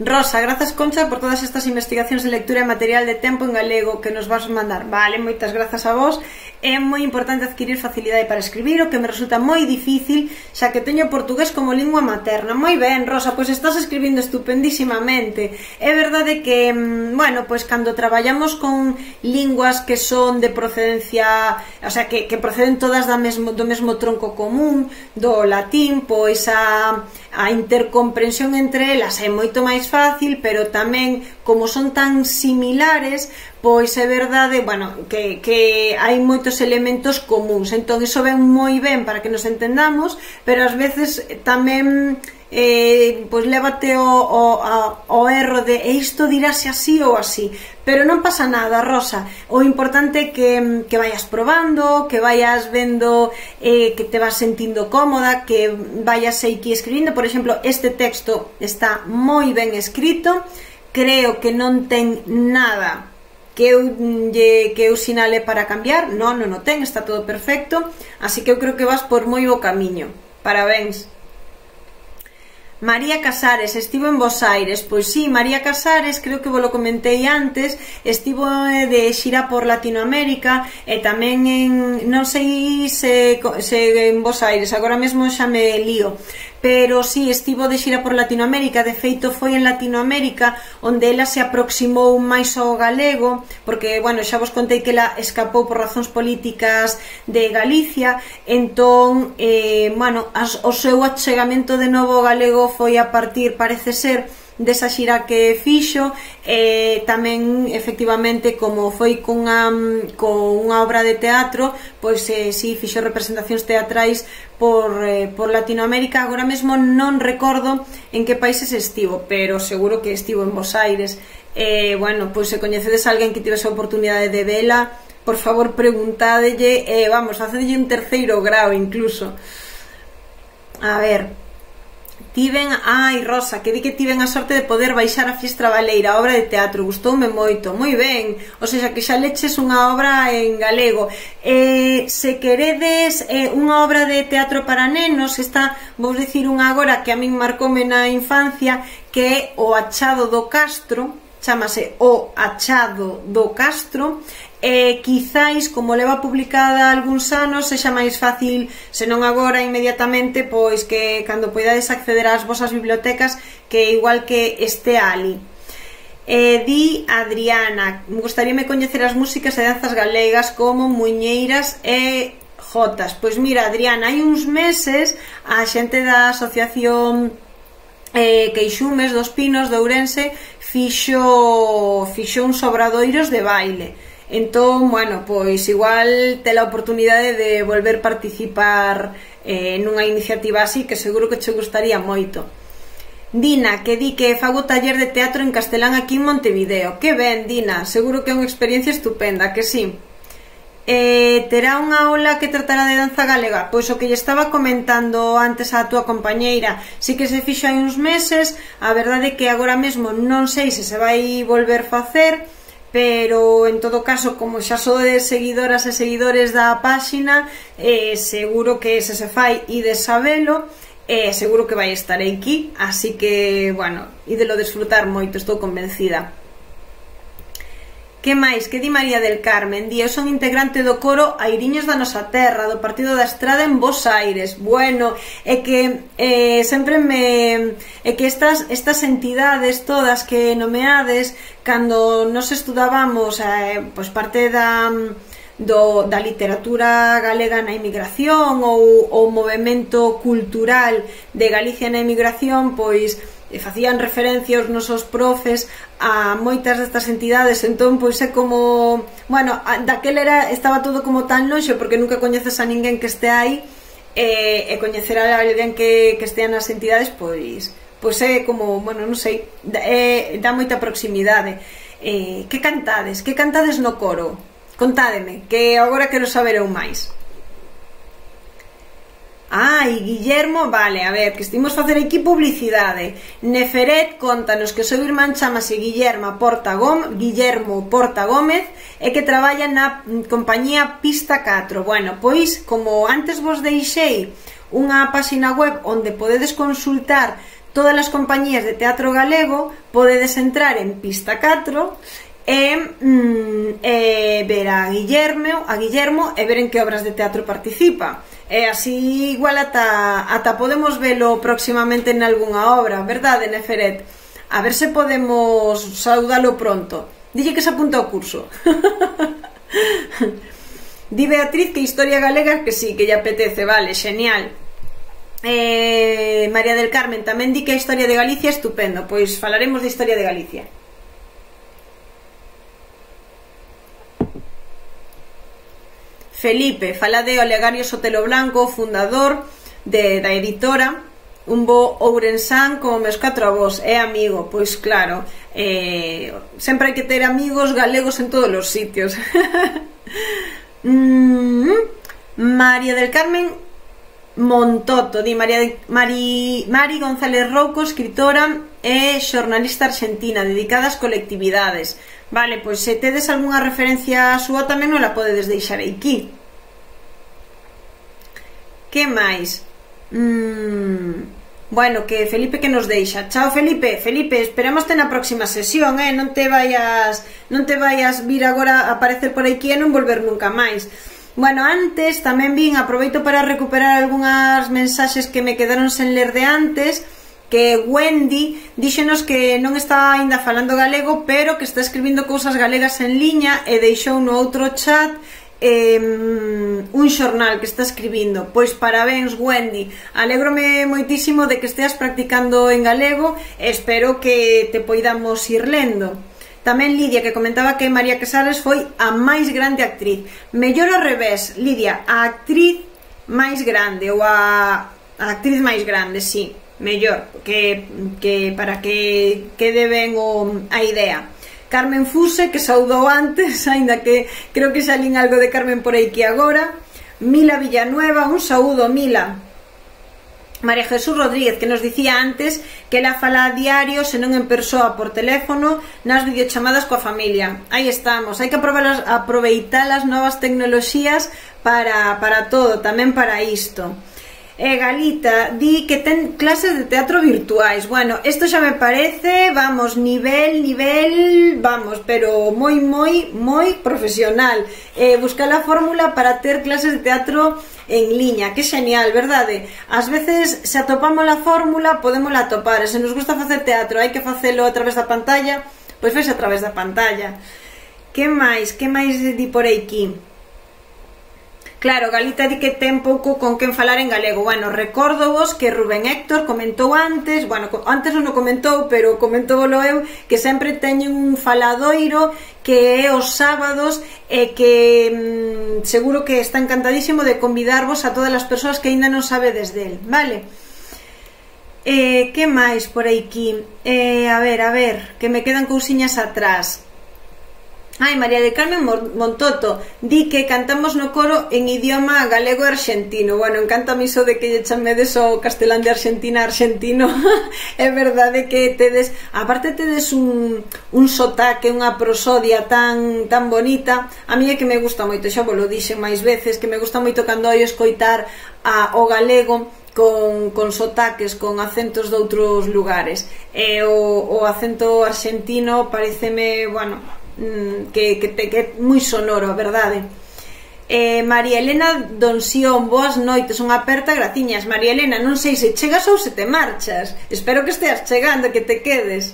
Rosa, grazas, Concha, por todas estas investigacións de lectura e material de tempo en galego que nos vas mandar. Vale, moitas grazas a vos. É moi importante adquirir facilidade para escribir, o que me resulta moi difícil, xa que teño portugués como lingua materna. Moi ben, Rosa, pois estás escribindo estupendísimamente. É verdade que, bueno, pois cando traballamos con linguas que son de procedencia, o sea, que proceden todas do mesmo tronco común, do latín, pois a intercomprensión entre elas é moito máis fácil, pero tamén, como son tan similares, pois é verdade, bueno, que hai moitos elementos comuns. Entón, iso ven moi ben para que nos entendamos, pero ás veces tamén pois lévate o erro de isto dirase así ou así, pero non pasa nada, Rosa. O importante é que vayas probando, que vayas vendo, que te vas sentindo cómoda, que vayas aquí escribindo. Por exemplo, este texto está moi ben escrito, creo que non ten nada que eu sinale para cambiar, non o ten, está todo perfecto, así que eu creo que vas por moi bo camiño. Parabéns. María Casares, estivo en Bos Aires. Pois sí, María Casares, creo que vos lo comentei antes, estivo de xira por Latinoamérica e tamén non sei se en Bos Aires, agora mesmo xa me lío, pero sí, estivo de xira por Latinoamérica. De feito, foi en Latinoamérica onde ela se aproximou máis ao galego, porque, bueno, xa vos contei que ela escapou por razóns políticas de Galicia. Entón, bueno, o seu achegamento de novo ao galego foi a partir, parece ser, desa xira que fixo. Tamén, efectivamente, como foi con unha obra de teatro, pois si fixo representacións teatrais por Latinoamérica. Agora mesmo non recordo en que países estivo, pero seguro que estivo en Bos Aires. Bueno, pois se coñecedes a alguén que tivese a oportunidade de vela, por favor preguntádelle, vamos, facedelle un terceiro grao incluso. A ver, Rosa, que di que tiven a sorte de poder baixar a Fiestra Baleira, a obra de teatro, gustoume moito. Moi ben, ou seja, que xa leches unha obra en galego. Se queredes unha obra de teatro para nenos, esta, vou dicir unha agora que a min marcoume na infancia, que é O Achado do Castro, chámase O Achado do Castro. Quizáis, como leva publicada algúns anos, sexa máis fácil, se non agora inmediatamente, pois que cando poidades acceder ás vosas bibliotecas, que igual que este ali. Di Adriana, me gustaríame coñecer as músicas e danzas galegas como muiñeiras e Jotas. Pois mira, Adriana, hai uns meses a xente da asociación Queixumes dos Pinos de Ourense fixo uns obradoiros de baile. Entón, bueno, pois igual te a oportunidade de volver participar nunha iniciativa así, que seguro que che gustaría moito. Dina, que di que fago taller de teatro en castelán aquí en Montevideo. Que ben, Dina, seguro que é unha experiencia estupenda, que sí. Terá unha aula que tratará de danza galega? Pois o que lle estaba comentando antes a túa compañeira, si que se fixo hai uns meses, a verdade é que agora mesmo non sei se se vai volver facer, pero en todo caso, como xa sodes seguidoras e seguidores da páxina, seguro que se fai e de sabelo, seguro que vai estar aquí, así que, bueno, e de lo disfrutar moito, estou convencida. Que máis? Que di María del Carmen? Di, eu son integrante do coro Airiños da Nosa Terra, do Partido da Estrada en Bos Aires. Bueno, é que sempre me... é que estas entidades todas que nomeades, cando nos estudábamos pois parte da literatura galega na emigración ou o movemento cultural de Galicia na emigración, pois facían referencia aos nosos profes a moitas destas entidades, entón pois é como, bueno, daquel estaba todo como tan lonxe porque nunca coñeces a ninguén que este aí, e coñecer a alguén que estea nas entidades pois é como, bueno, non sei, dá moita proximidade. Que cantades no coro? Contádeme, que agora quero saber eu máis. E Guillermo, vale, a ver, que estimos facer aquí publicidade. Neferet, contanos que o seu irmán chamase Guillermo Porta Gómez e que traballa na compañía Pista 4. Bueno, pois, como antes vos deixei unha páxina web onde podedes consultar todas as compañías de teatro galego, podedes entrar en Pista 4 e ver a Guillermo e ver en que obras de teatro participa. E así igual ata podemos velo próximamente en algunha obra, verdade, Neferet? A ver se podemos saudalo pronto. Dille que se apunta ao curso. Di Beatriz que historia galega que sí, que lle apetece, vale, genial. María del Carmen tamén di que a historia de Galicia é estupendo, pois falaremos de historia de Galicia. Felipe, fala de Olegario Sotelo Blanco, fundador da editora Un Bo Ourensán como meus 4 avós, é amigo, pois claro, sempre hai que ter amigos galegos en todos os sitios. María del Carmen Montoto, di Mari González Rouco, escritora e xornalista argentina dedicada ás colectividades. Vale, pois se tedes algunha referencia a súa tamén non la podedes deixar aquí. Que máis? Bueno, que Felipe que nos deixa. Chao, Felipe, esperámoste na próxima sesión, non te vayas vir agora a aparecer por aquí e non volver nunca máis. Bueno, antes tamén aproveito para recuperar algunhas mensaxes que me quedaron sen ler de antes, que Wendy díxenos que non está aínda falando galego, pero que está escribindo cousas galegas en liña e deixou no outro chat un xornal que está escribindo. Pois parabéns, Wendy, alégrome moitísimo de que esteas practicando en galego e espero que te poidamos ir lendo. Tamén Lidia, que comentaba que María Casares foi a máis grande actriz. Mellor ao revés, Lidia, a actriz máis grande, ou a actriz máis grande, sí, mellor, que para que quede ben a idea. Carmen Fuse, que saudou antes, aínda que creo que xa lín algo de Carmen por aí que agora. Mila Villanueva, un saúdo, Mila. María Jesús Rodríguez, que nos dicía antes que ela fala a diario, senón en persoa por teléfono, nas videochamadas coa familia. Aí estamos, hai que aproveitar as novas tecnoloxías para todo, tamén para isto. Galita di que ten clases de teatro virtuais. Bueno, isto xa me parece, vamos, nivel, vamos, pero moi profesional. Buscar a fórmula para ter clases de teatro en liña, que xenial, verdade? Ás veces, se atopamos a fórmula, podémola atopar, e se nos gusta facer teatro, hai que facelo a través da pantalla, pois fese a través da pantalla. Que máis di por aquí? Claro, Galita di que ten pouco con quen falar en galego. Bueno, recordo vos que Rubén Héctor comentou antes, bueno, antes non o comentou, pero comentóvolo eu, que sempre teñen un faladoiro que é os sábados e que seguro que está encantadísimo de convidarvos a todas as persoas que aínda non sabedes del, vale? Que máis por aquí? A ver, que me quedan cousiñas atrás. Ai, María del Carmen Montoto di que cantamos no coro en idioma galego e argentino. Bueno, encantame iso de que lle chamedes o castelán de Argentina argentino. É verdade que tedes, aparte tedes un sotaque, unha prosodia tan bonita. A mí é que me gusta moito, xa vos lo dixen máis veces, que me gusta moito cando oio escoitar o galego con sotaques, con acentos de outros lugares. E o acento argentino pareceme, bueno, que é moi sonoro, a verdade. María Elena Donsión, boas noites, unha aperta, graciñas. María Elena, non sei se chegas ou se te marchas, espero que esteas chegando, que te quedes.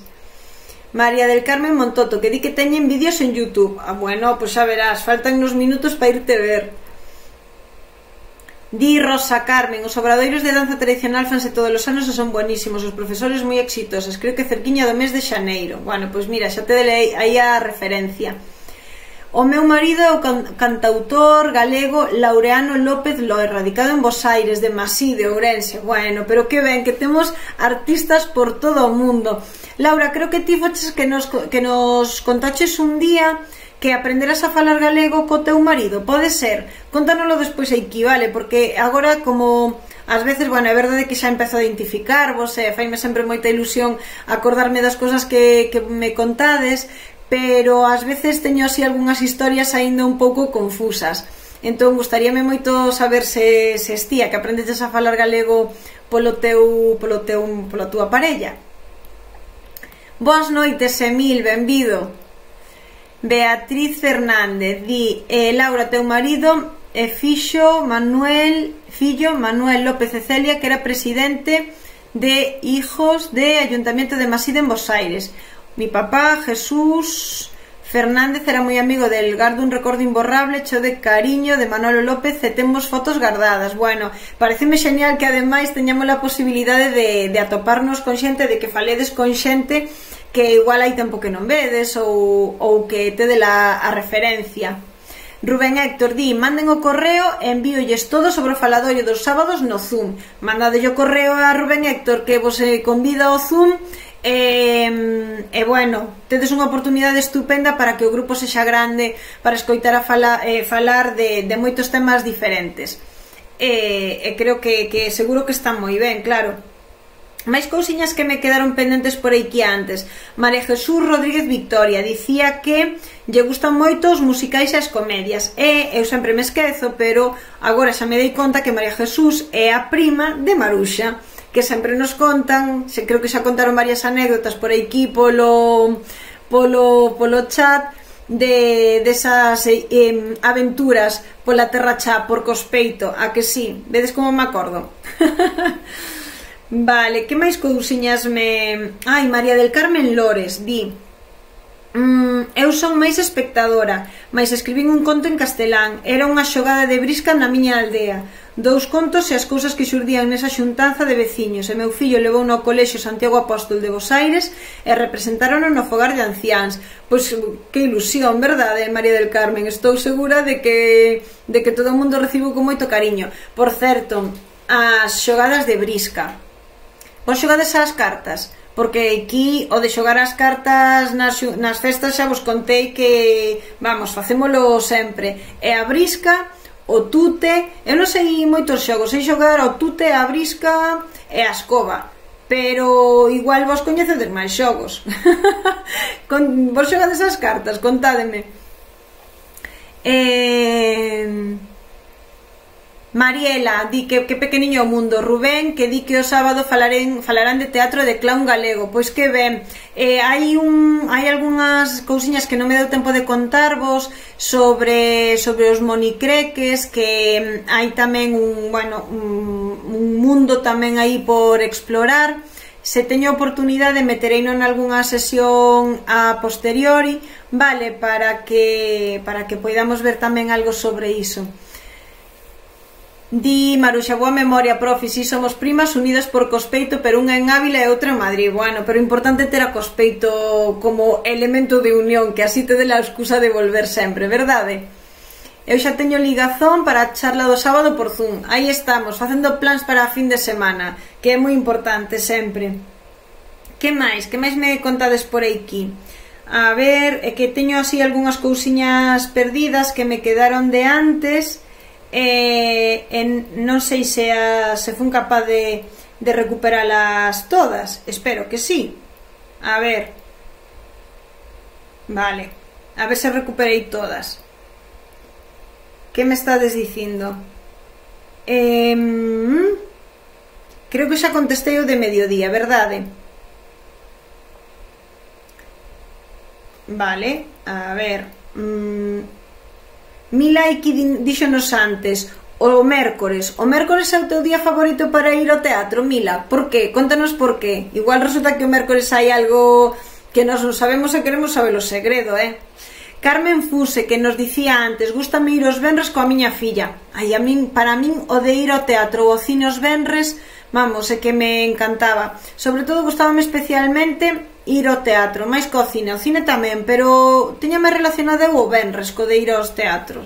María del Carmen Montoto, que di que teñen vídeos en YouTube. Bueno, pois xa verás, faltan uns minutos para irte ver. Di Rosa Carmen, os obradoiros de danza tradicional fanse todos os anos e son buenísimos, os profesores moi exitosos, creo que cerquiña do mes de xaneiro. Bueno, pois mira, xa te dei aí a referencia. O meu marido é o cantautor galego Laureano López Loe, radicado en Bos Aires, de Masí, de Ourense. Bueno, pero que ben, que temos artistas por todo o mundo. Laura, creo que ti foches que nos contaches un día que aprenderas a falar galego co teu marido, pode ser? Contánoslo despois aquí, vale? Porque agora, como ás veces, bueno, é verdade que xa empezo a identificarvos e faime sempre moita ilusión acordarme das cousas que me contades, pero ás veces teño así algunhas historias aínda un pouco confusas. Entón, gustaríame moito saber se estía que aprendeches a falar galego pola túa parella. Boas noites, Emil, benvido. Beatriz Fernández di, Laura, teu marido é fillo Manuel López e Celia, que era presidente de Hijos de Ayuntamiento de Masí en Bos Aires. Mi papá, Jesús Fernández, era moi amigo del, gardo un recordo imborrable, cheo de cariño de Manolo López e temos fotos guardadas. Bueno, pareceme xenial que ademais teñamos a posibilidade de atoparnos con xente, de que faledes con xente que igual hai tempo que non vedes ou que te dé a referencia. Rubén Héctor di, manden o correo e envíolles todo sobre o faladorio dos sábados no Zoom. Mandadelle o correo a Rubén Héctor que vos convida ao Zoom e bueno, tedes unha oportunidade estupenda para que o grupo sexa grande, para escoitar a falar de moitos temas diferentes. E creo que seguro que está moi ben, claro. Máis cousiñas que me quedaron pendentes por aquí antes. María Jesús Rodríguez Victoria dicía que lle gustan moito os musicais e as comedias, e eu sempre me esquezo, pero agora xa me dei conta que María Jesús é a prima de Maruxa, que sempre nos contan, creo que xa contaron varias anécdotas por aquí polo chat desas aventuras pola terra chá, por Cospeito, a que sí? Vedes como me acordo? Vale, que máis cousiñas me... Ai, María del Carmen Lores di, eu son máis espectadora, mais escribín un conto en castelán, era unha xogada de brisca na miña aldea, 2 contos e as cousas que xurdían nesa xuntanza de veciños, e meu fillo levou no colexio Santiago Apóstol de Bos Aires e representaron no fogar de anciáns. Pois que ilusión, verdade, María del Carmen? Estou segura de que todo o mundo recibiu con moito cariño. Por certo, as xogadas de brisca, vos xogades ás cartas? Porque aquí o de xogar as cartas nas festas xa vos contei que, vamos, facémolo sempre. E a brisca, o tute, eu non sei moitos xogos, sei xogar o tute, a brisca e a escoba, pero igual vos coñecedes máis xogos. Vos xogades as cartas? Contádeme. Mariela di que pequeniño o mundo. Rubén, que di que o sábado falarán de teatro de clown galego. Pois que ben, hai algunhas cousiñas que non me deu tempo de contarvos sobre os monicreques, que hai tamén un mundo tamén aí por explorar. Se teño oportunidade metereino en algunha sesión a posteriori, vale, para que poidamos ver tamén algo sobre iso. Di Maruxa, boa memoria, profe, si somos primas unidas por cospeito, pero unha en Ávila e outra en Madrid. Bueno, pero importante ter a cospeito como elemento de unión, que así te dé a excusa de volver sempre, verdade? Eu xa teño ligazón para a charla do sábado por Zoom. Aí estamos, facendo plans para a fin de semana, que é moi importante sempre. Que máis? Que máis me contades por aquí? A ver, é que teño así algunhas cousiñas perdidas que me quedaron de antes. Non sei se fun capaz de recuperalas todas. Espero que sí. A ver. Vale. A ver se recuperei todas. Que me estades dicindo? Creo que xa contestei o de mediodía, verdade? Vale, a ver. Milaiki díxonos antes o mércores é o teu día favorito para ir ao teatro, Mila? Por que? Contanos por que. Igual resulta que o mércores hai algo que nós non sabemos e queremos saber o segredo, Carmen Fuse, que nos dicía antes, gústame ir os venres coa miña filla. Ai, para min o de ir ao teatro ou ao cine os venres, vamos, é que me encantaba. Sobre todo gustábame especialmente ir ao teatro, máis co cine, o cine tamén, pero teñame relacionado o venres co de ir ao teatro,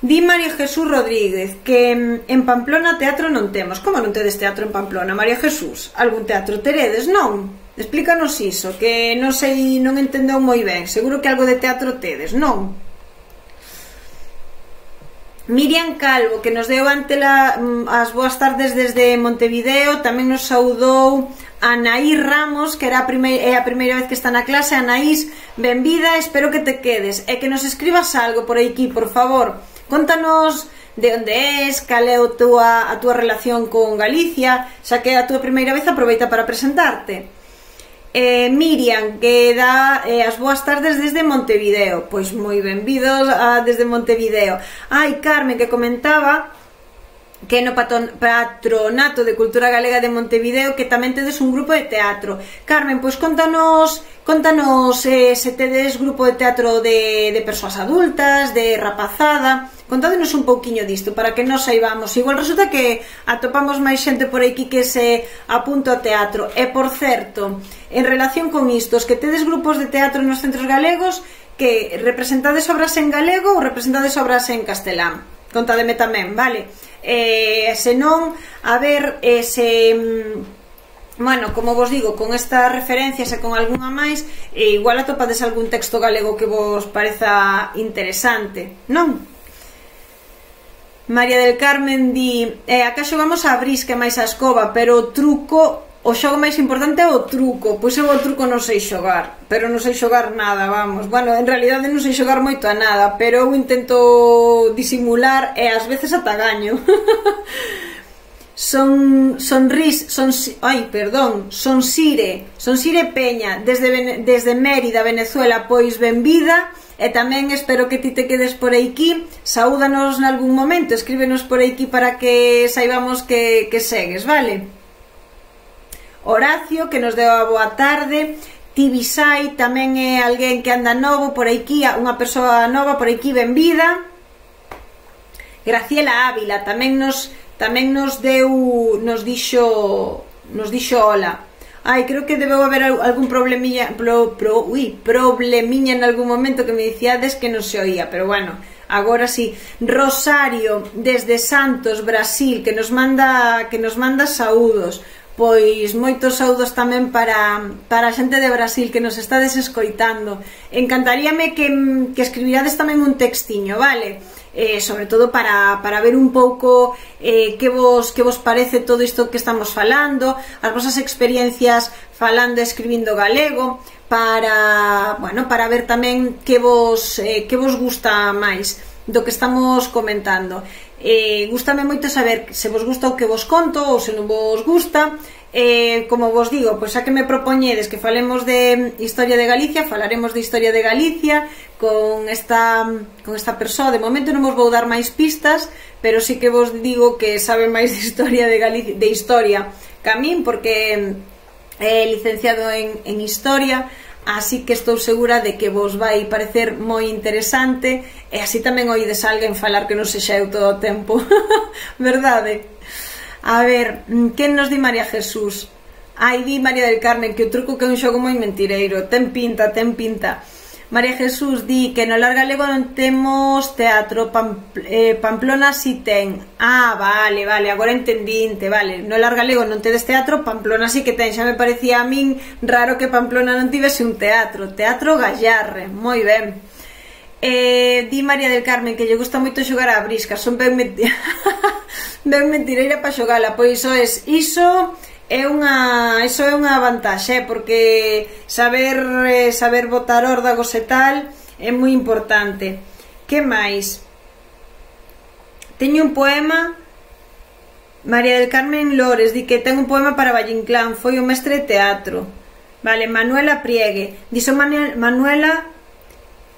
Di María Jesús Rodríguez que en Pamplona teatro non temos. Como non tedes teatro en Pamplona, María Jesús? Algún teatro teredes, non? Explícanos iso, que non sei, non entendeu moi ben. Seguro que algo de teatro tedes, non? Miriam Calvo, que nos deu ante as boas tardes desde Montevideo, tamén nos saudou Anaís Ramos, que era a primeira vez que está na clase. Anaís, benvida, espero que te quedes e que nos escribas algo por aquí, por favor. Contanos de onde és, cal é a túa relación con Galicia, xa que é a túa primeira vez, aproveita para presentarte. Miriam, que dá as boas tardes desde Montevideo. Pois moi benvidos desde Montevideo. Ai, Carmen, que comentaba que no Patronato de Cultura Galega de Montevideo que tamén tedes un grupo de teatro. Carmen, pois contanos se tedes grupo de teatro de persoas adultas, de rapazada. Contádenos un pouquiño disto para que nos saibamos. Igual resulta que atopamos máis xente por aquí que se apunta ao teatro. E, por certo, en relación con isto, os que tedes grupos de teatro nos centros galegos, que representades obras en galego ou representades obras en castelán? Contádeme tamén, vale? Se non, a ver bueno, como vos digo, con estas referencias e con algunha máis, igual atopades algún texto galego que vos pareza interesante, non? María del Carmen di acá xogamos a brisca máis a escoba, pero o truco, o xogo máis importante é o truco. Pois eu o truco non sei xogar, pero non sei xogar nada, vamos. Bueno, en realidade non sei xogar moito a nada, pero eu intento disimular e ás veces ata gaño. Sonsire Peña, desde Mérida, Venezuela, pois benvida. E tamén espero que ti te quedes por aquí. Saúdanos nalgún momento, escríbenos por aquí para que saibamos que segues, vale? Horacio, que nos deu a boa tarde. Tibisai, tamén é alguén que anda novo por aquí, unha persoa nova por aquí, benvida. Graciela Ávila tamén nos dixo hola. Ai, creo que debeu haber algún problemiña en algún momento que me dicíades que non se oía, pero bueno, agora sí. Rosario, desde Santos, Brasil, que nos manda saúdos. Pois moitos saúdos tamén para a xente de Brasil que nos estades escoitando. Encantaríame que escribirades tamén un textiño, vale? Sobre todo para ver un pouco que vos parece todo isto que estamos falando, as vosas experiencias falando e escribindo galego, para ver tamén que vos gusta máis do que estamos comentando. Gústame moito saber se vos gusta o que vos conto ou se non vos gusta. Como vos digo, pois xa que me propoñedes que falemos de historia de Galicia, falaremos de historia de Galicia con esta persoa. De momento non vos vou dar máis pistas, pero sí que vos digo que sabe máis de historia de Galicia, de historia que a min, porque é licenciado en historia. así que estou segura de que vos vai parecer moi interesante e así tamén oídes alguén falar que non sexa eu todo o tempo. Verdade? A ver, quen nos di María Jesús? Ai, di María del Carmen que o truco que é un xogo moi mentireiro. Ten pinta, ten pinta. María Jesús di que no Lar Galego non temos teatro, Pamplona si ten. Ah, vale, vale, agora entendinte, vale. No Lar Galego non tedes teatro, Pamplona si que ten. Xa me parecía a min raro que Pamplona non tivese un teatro. Teatro Gallarre, moi ben. Di María del Carmen que lle gusta moito xogar a brisca. Son ben mentireira para xogala. Pois iso é unha vantaxe, porque saber botar órdagos e tal é moi importante. Que máis? Teño un poema. María del Carmen Lores di que ten un poema para Valle Inclán, foi o mestre de teatro. Vale, Manuela Priegue dixo Manuela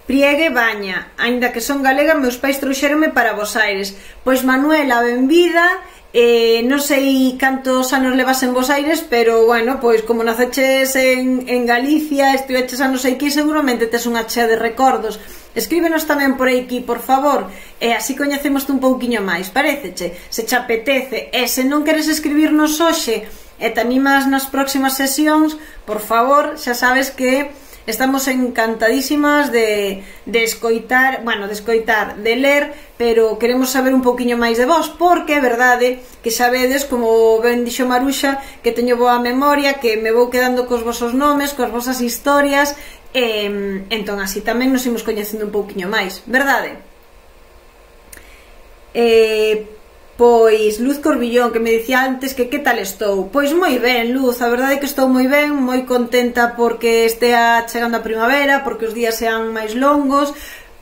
Priegue Baña, aínda que son galega, meus pais trouxeronme para Bos Aires. Pois Manuela, benvida. Non sei cantos anos levas en Bos Aires, pero bueno, pois como naceches en Galicia, estiveches a non sei que, seguramente tes unha chea de recordos. Escríbenos tamén por aquí, por favor, e así coñecemos un pouquiño máis, pareceche? Se che apetece, e se non queres escribirnos hoxe e te animas nas próximas sesións, por favor, xa sabes que estamos encantadísimas de escoitar, bueno, de ler, pero queremos saber un pouquiño máis de vos, porque é verdade que sabedes, como ben dixo Maruxa, que teño boa memoria, que me vou quedando cos vosos nomes, cos vosas historias, entón así tamén nos imos coñecendo un pouquiño máis, verdade? Pois Luz Corbillón, que me dicía antes que tal estou. Pois moi ben, Luz, a verdade é que estou moi ben, moi contenta porque estea chegando a primavera, porque os días sean máis longos,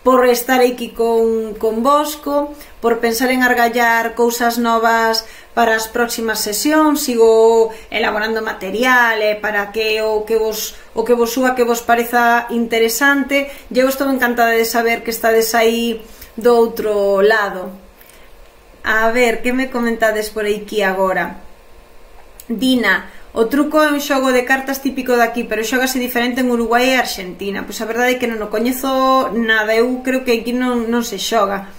por estar aquí con Bosco, por pensar en argallar cousas novas para as próximas sesións. Sigo elaborando material para que o que vos súa que vos pareza interesante. Eu estou encantada de saber que estades aí do outro lado. A ver, que me comentades por aquí agora? Dina, o truco é un xogo de cartas típico daqui, pero xógase diferente en Uruguai e Argentina. Pois a verdade é que non o coñezo nada, eu creo que aquí non se xoga.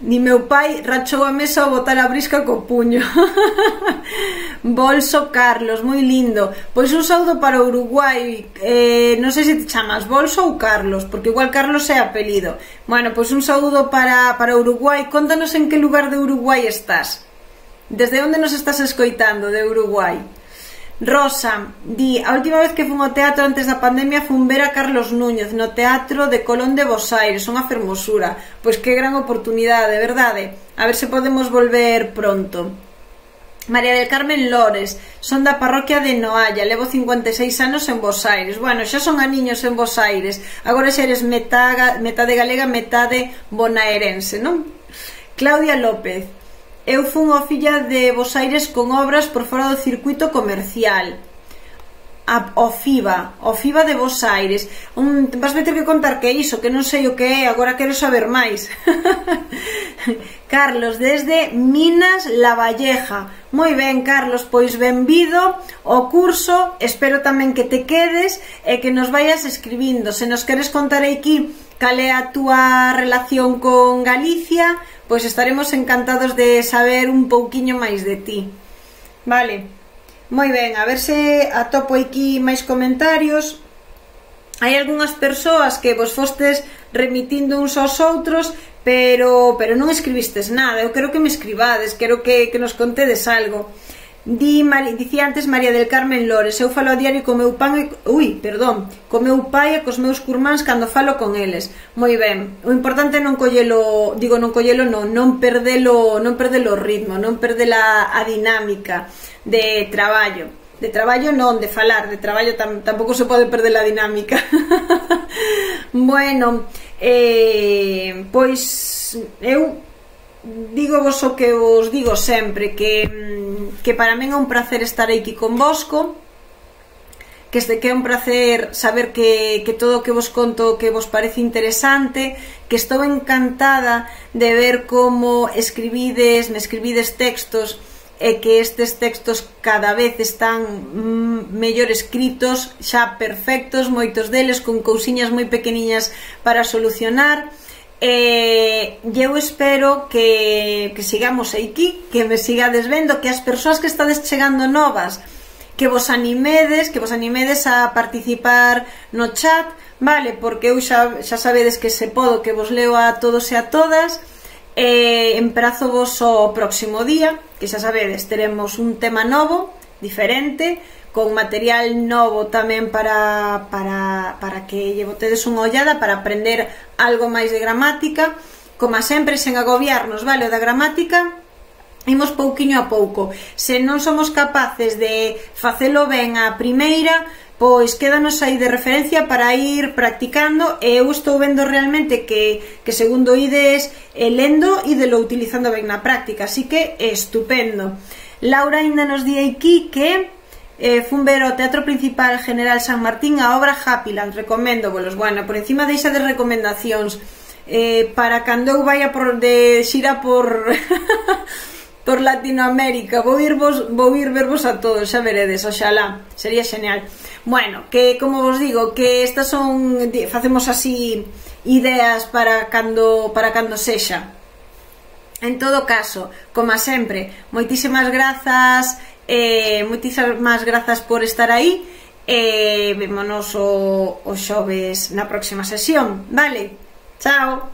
Ni meu pai rachou a mesa ao botar a brisca co puño. Bolso Carlos, moi lindo. Pois un saúdo para Uruguai. Non sei se te chamas Bolso ou Carlos, porque igual Carlos é apelido. Bueno, pois un saúdo para Uruguai. Contanos en que lugar de Uruguai estás. Desde onde nos estás escoitando de Uruguai? Rosa di, a última vez que fun ao teatro antes da pandemia fun ver a Carlos Núñez no Teatro de Colón de Bos Aires, unha fermosura. Pois que gran oportunidade, verdade? A ver se podemos volver pronto. María del Carmen Lores, son da parroquia de Noalla, levo 56 anos en Bos Aires. Bueno, xa son aniños en Bos Aires, agora xa eres metade galega, metade bonaerense, non? Claudia López, eu fun ao Filla de Bos Aires con obras por fora do circuito comercial. O FIBA de Bos Aires. Vas ter que contar que é iso, que non sei o que é, agora quero saber máis. Carlos, desde Minas Lavalleja. Moi ben, Carlos, pois benvido ao curso, espero tamén que te quedes e que nos vayas escribindo. Se nos queres contar aquí cal é a túa relación con Galicia, pois estaremos encantados de saber un pouquiño máis de ti. Vale, moi ben, a ver se atopo aquí máis comentarios. Hai algunhas persoas que vos fostes remitindo uns aos outros, pero non escribistes nada. Eu quero que me escribades, quero que nos contedes algo. Dicía antes María del Carmen Lores, eu falo a diario co meu pai e cos meus curmáns cando falo con eles. Moi ben, o importante é non perdelo o ritmo, non perdela a dinámica de traballo. De traballo non, de falar, de traballo tampouco se pode perder a dinámica. Bueno, pois eu digo vos o que vos digo sempre, que para min é un placer estar aquí con Bosco, que é un placer saber que todo o que vos conto que vos parece interesante, que estou encantada de ver como me escribides textos e que estes textos cada vez están mellor escritos, xa perfectos, moitos deles con cousiñas moi pequeniñas para solucionar. Eu espero que sigamos aquí, que me sigades vendo, que as persoas que estades chegando novas, que vos animedes a participar no chat, vale, porque eu xa sabedes que se podo, que vos leo a todos e a todas. Emprazo vos o próximo día, que xa sabedes, teremos un tema novo, diferente, con material novo tamén para que lle botedes unha ollada, para aprender algo máis de gramática. Como sempre, sen agobiarnos, vale, o da gramática imos pouquiño a pouco. Se non somos capaces de facelo ben a primeira, pois quédanos aí de referencia para ir practicando, e eu estou vendo realmente que segundo ides lendo, idelo utilizando ben na práctica, así que estupendo. Laura ainda nos di aquí que fun ver o Teatro Principal General San Martín a obra Happyland, recoméndovolos. Bueno, por encima deixa de recomendacións, para cando eu vaya de xira por por Latinoamérica, vou ir vervos a todos, xa veredes, oxalá, sería xeñal. Bueno, que como vos digo, que estas son, facemos así ideas para cando sexa. En todo caso, como sempre, moitísimas grazas por estar aí, vémonos o xoves na próxima sesión, vale? Chao!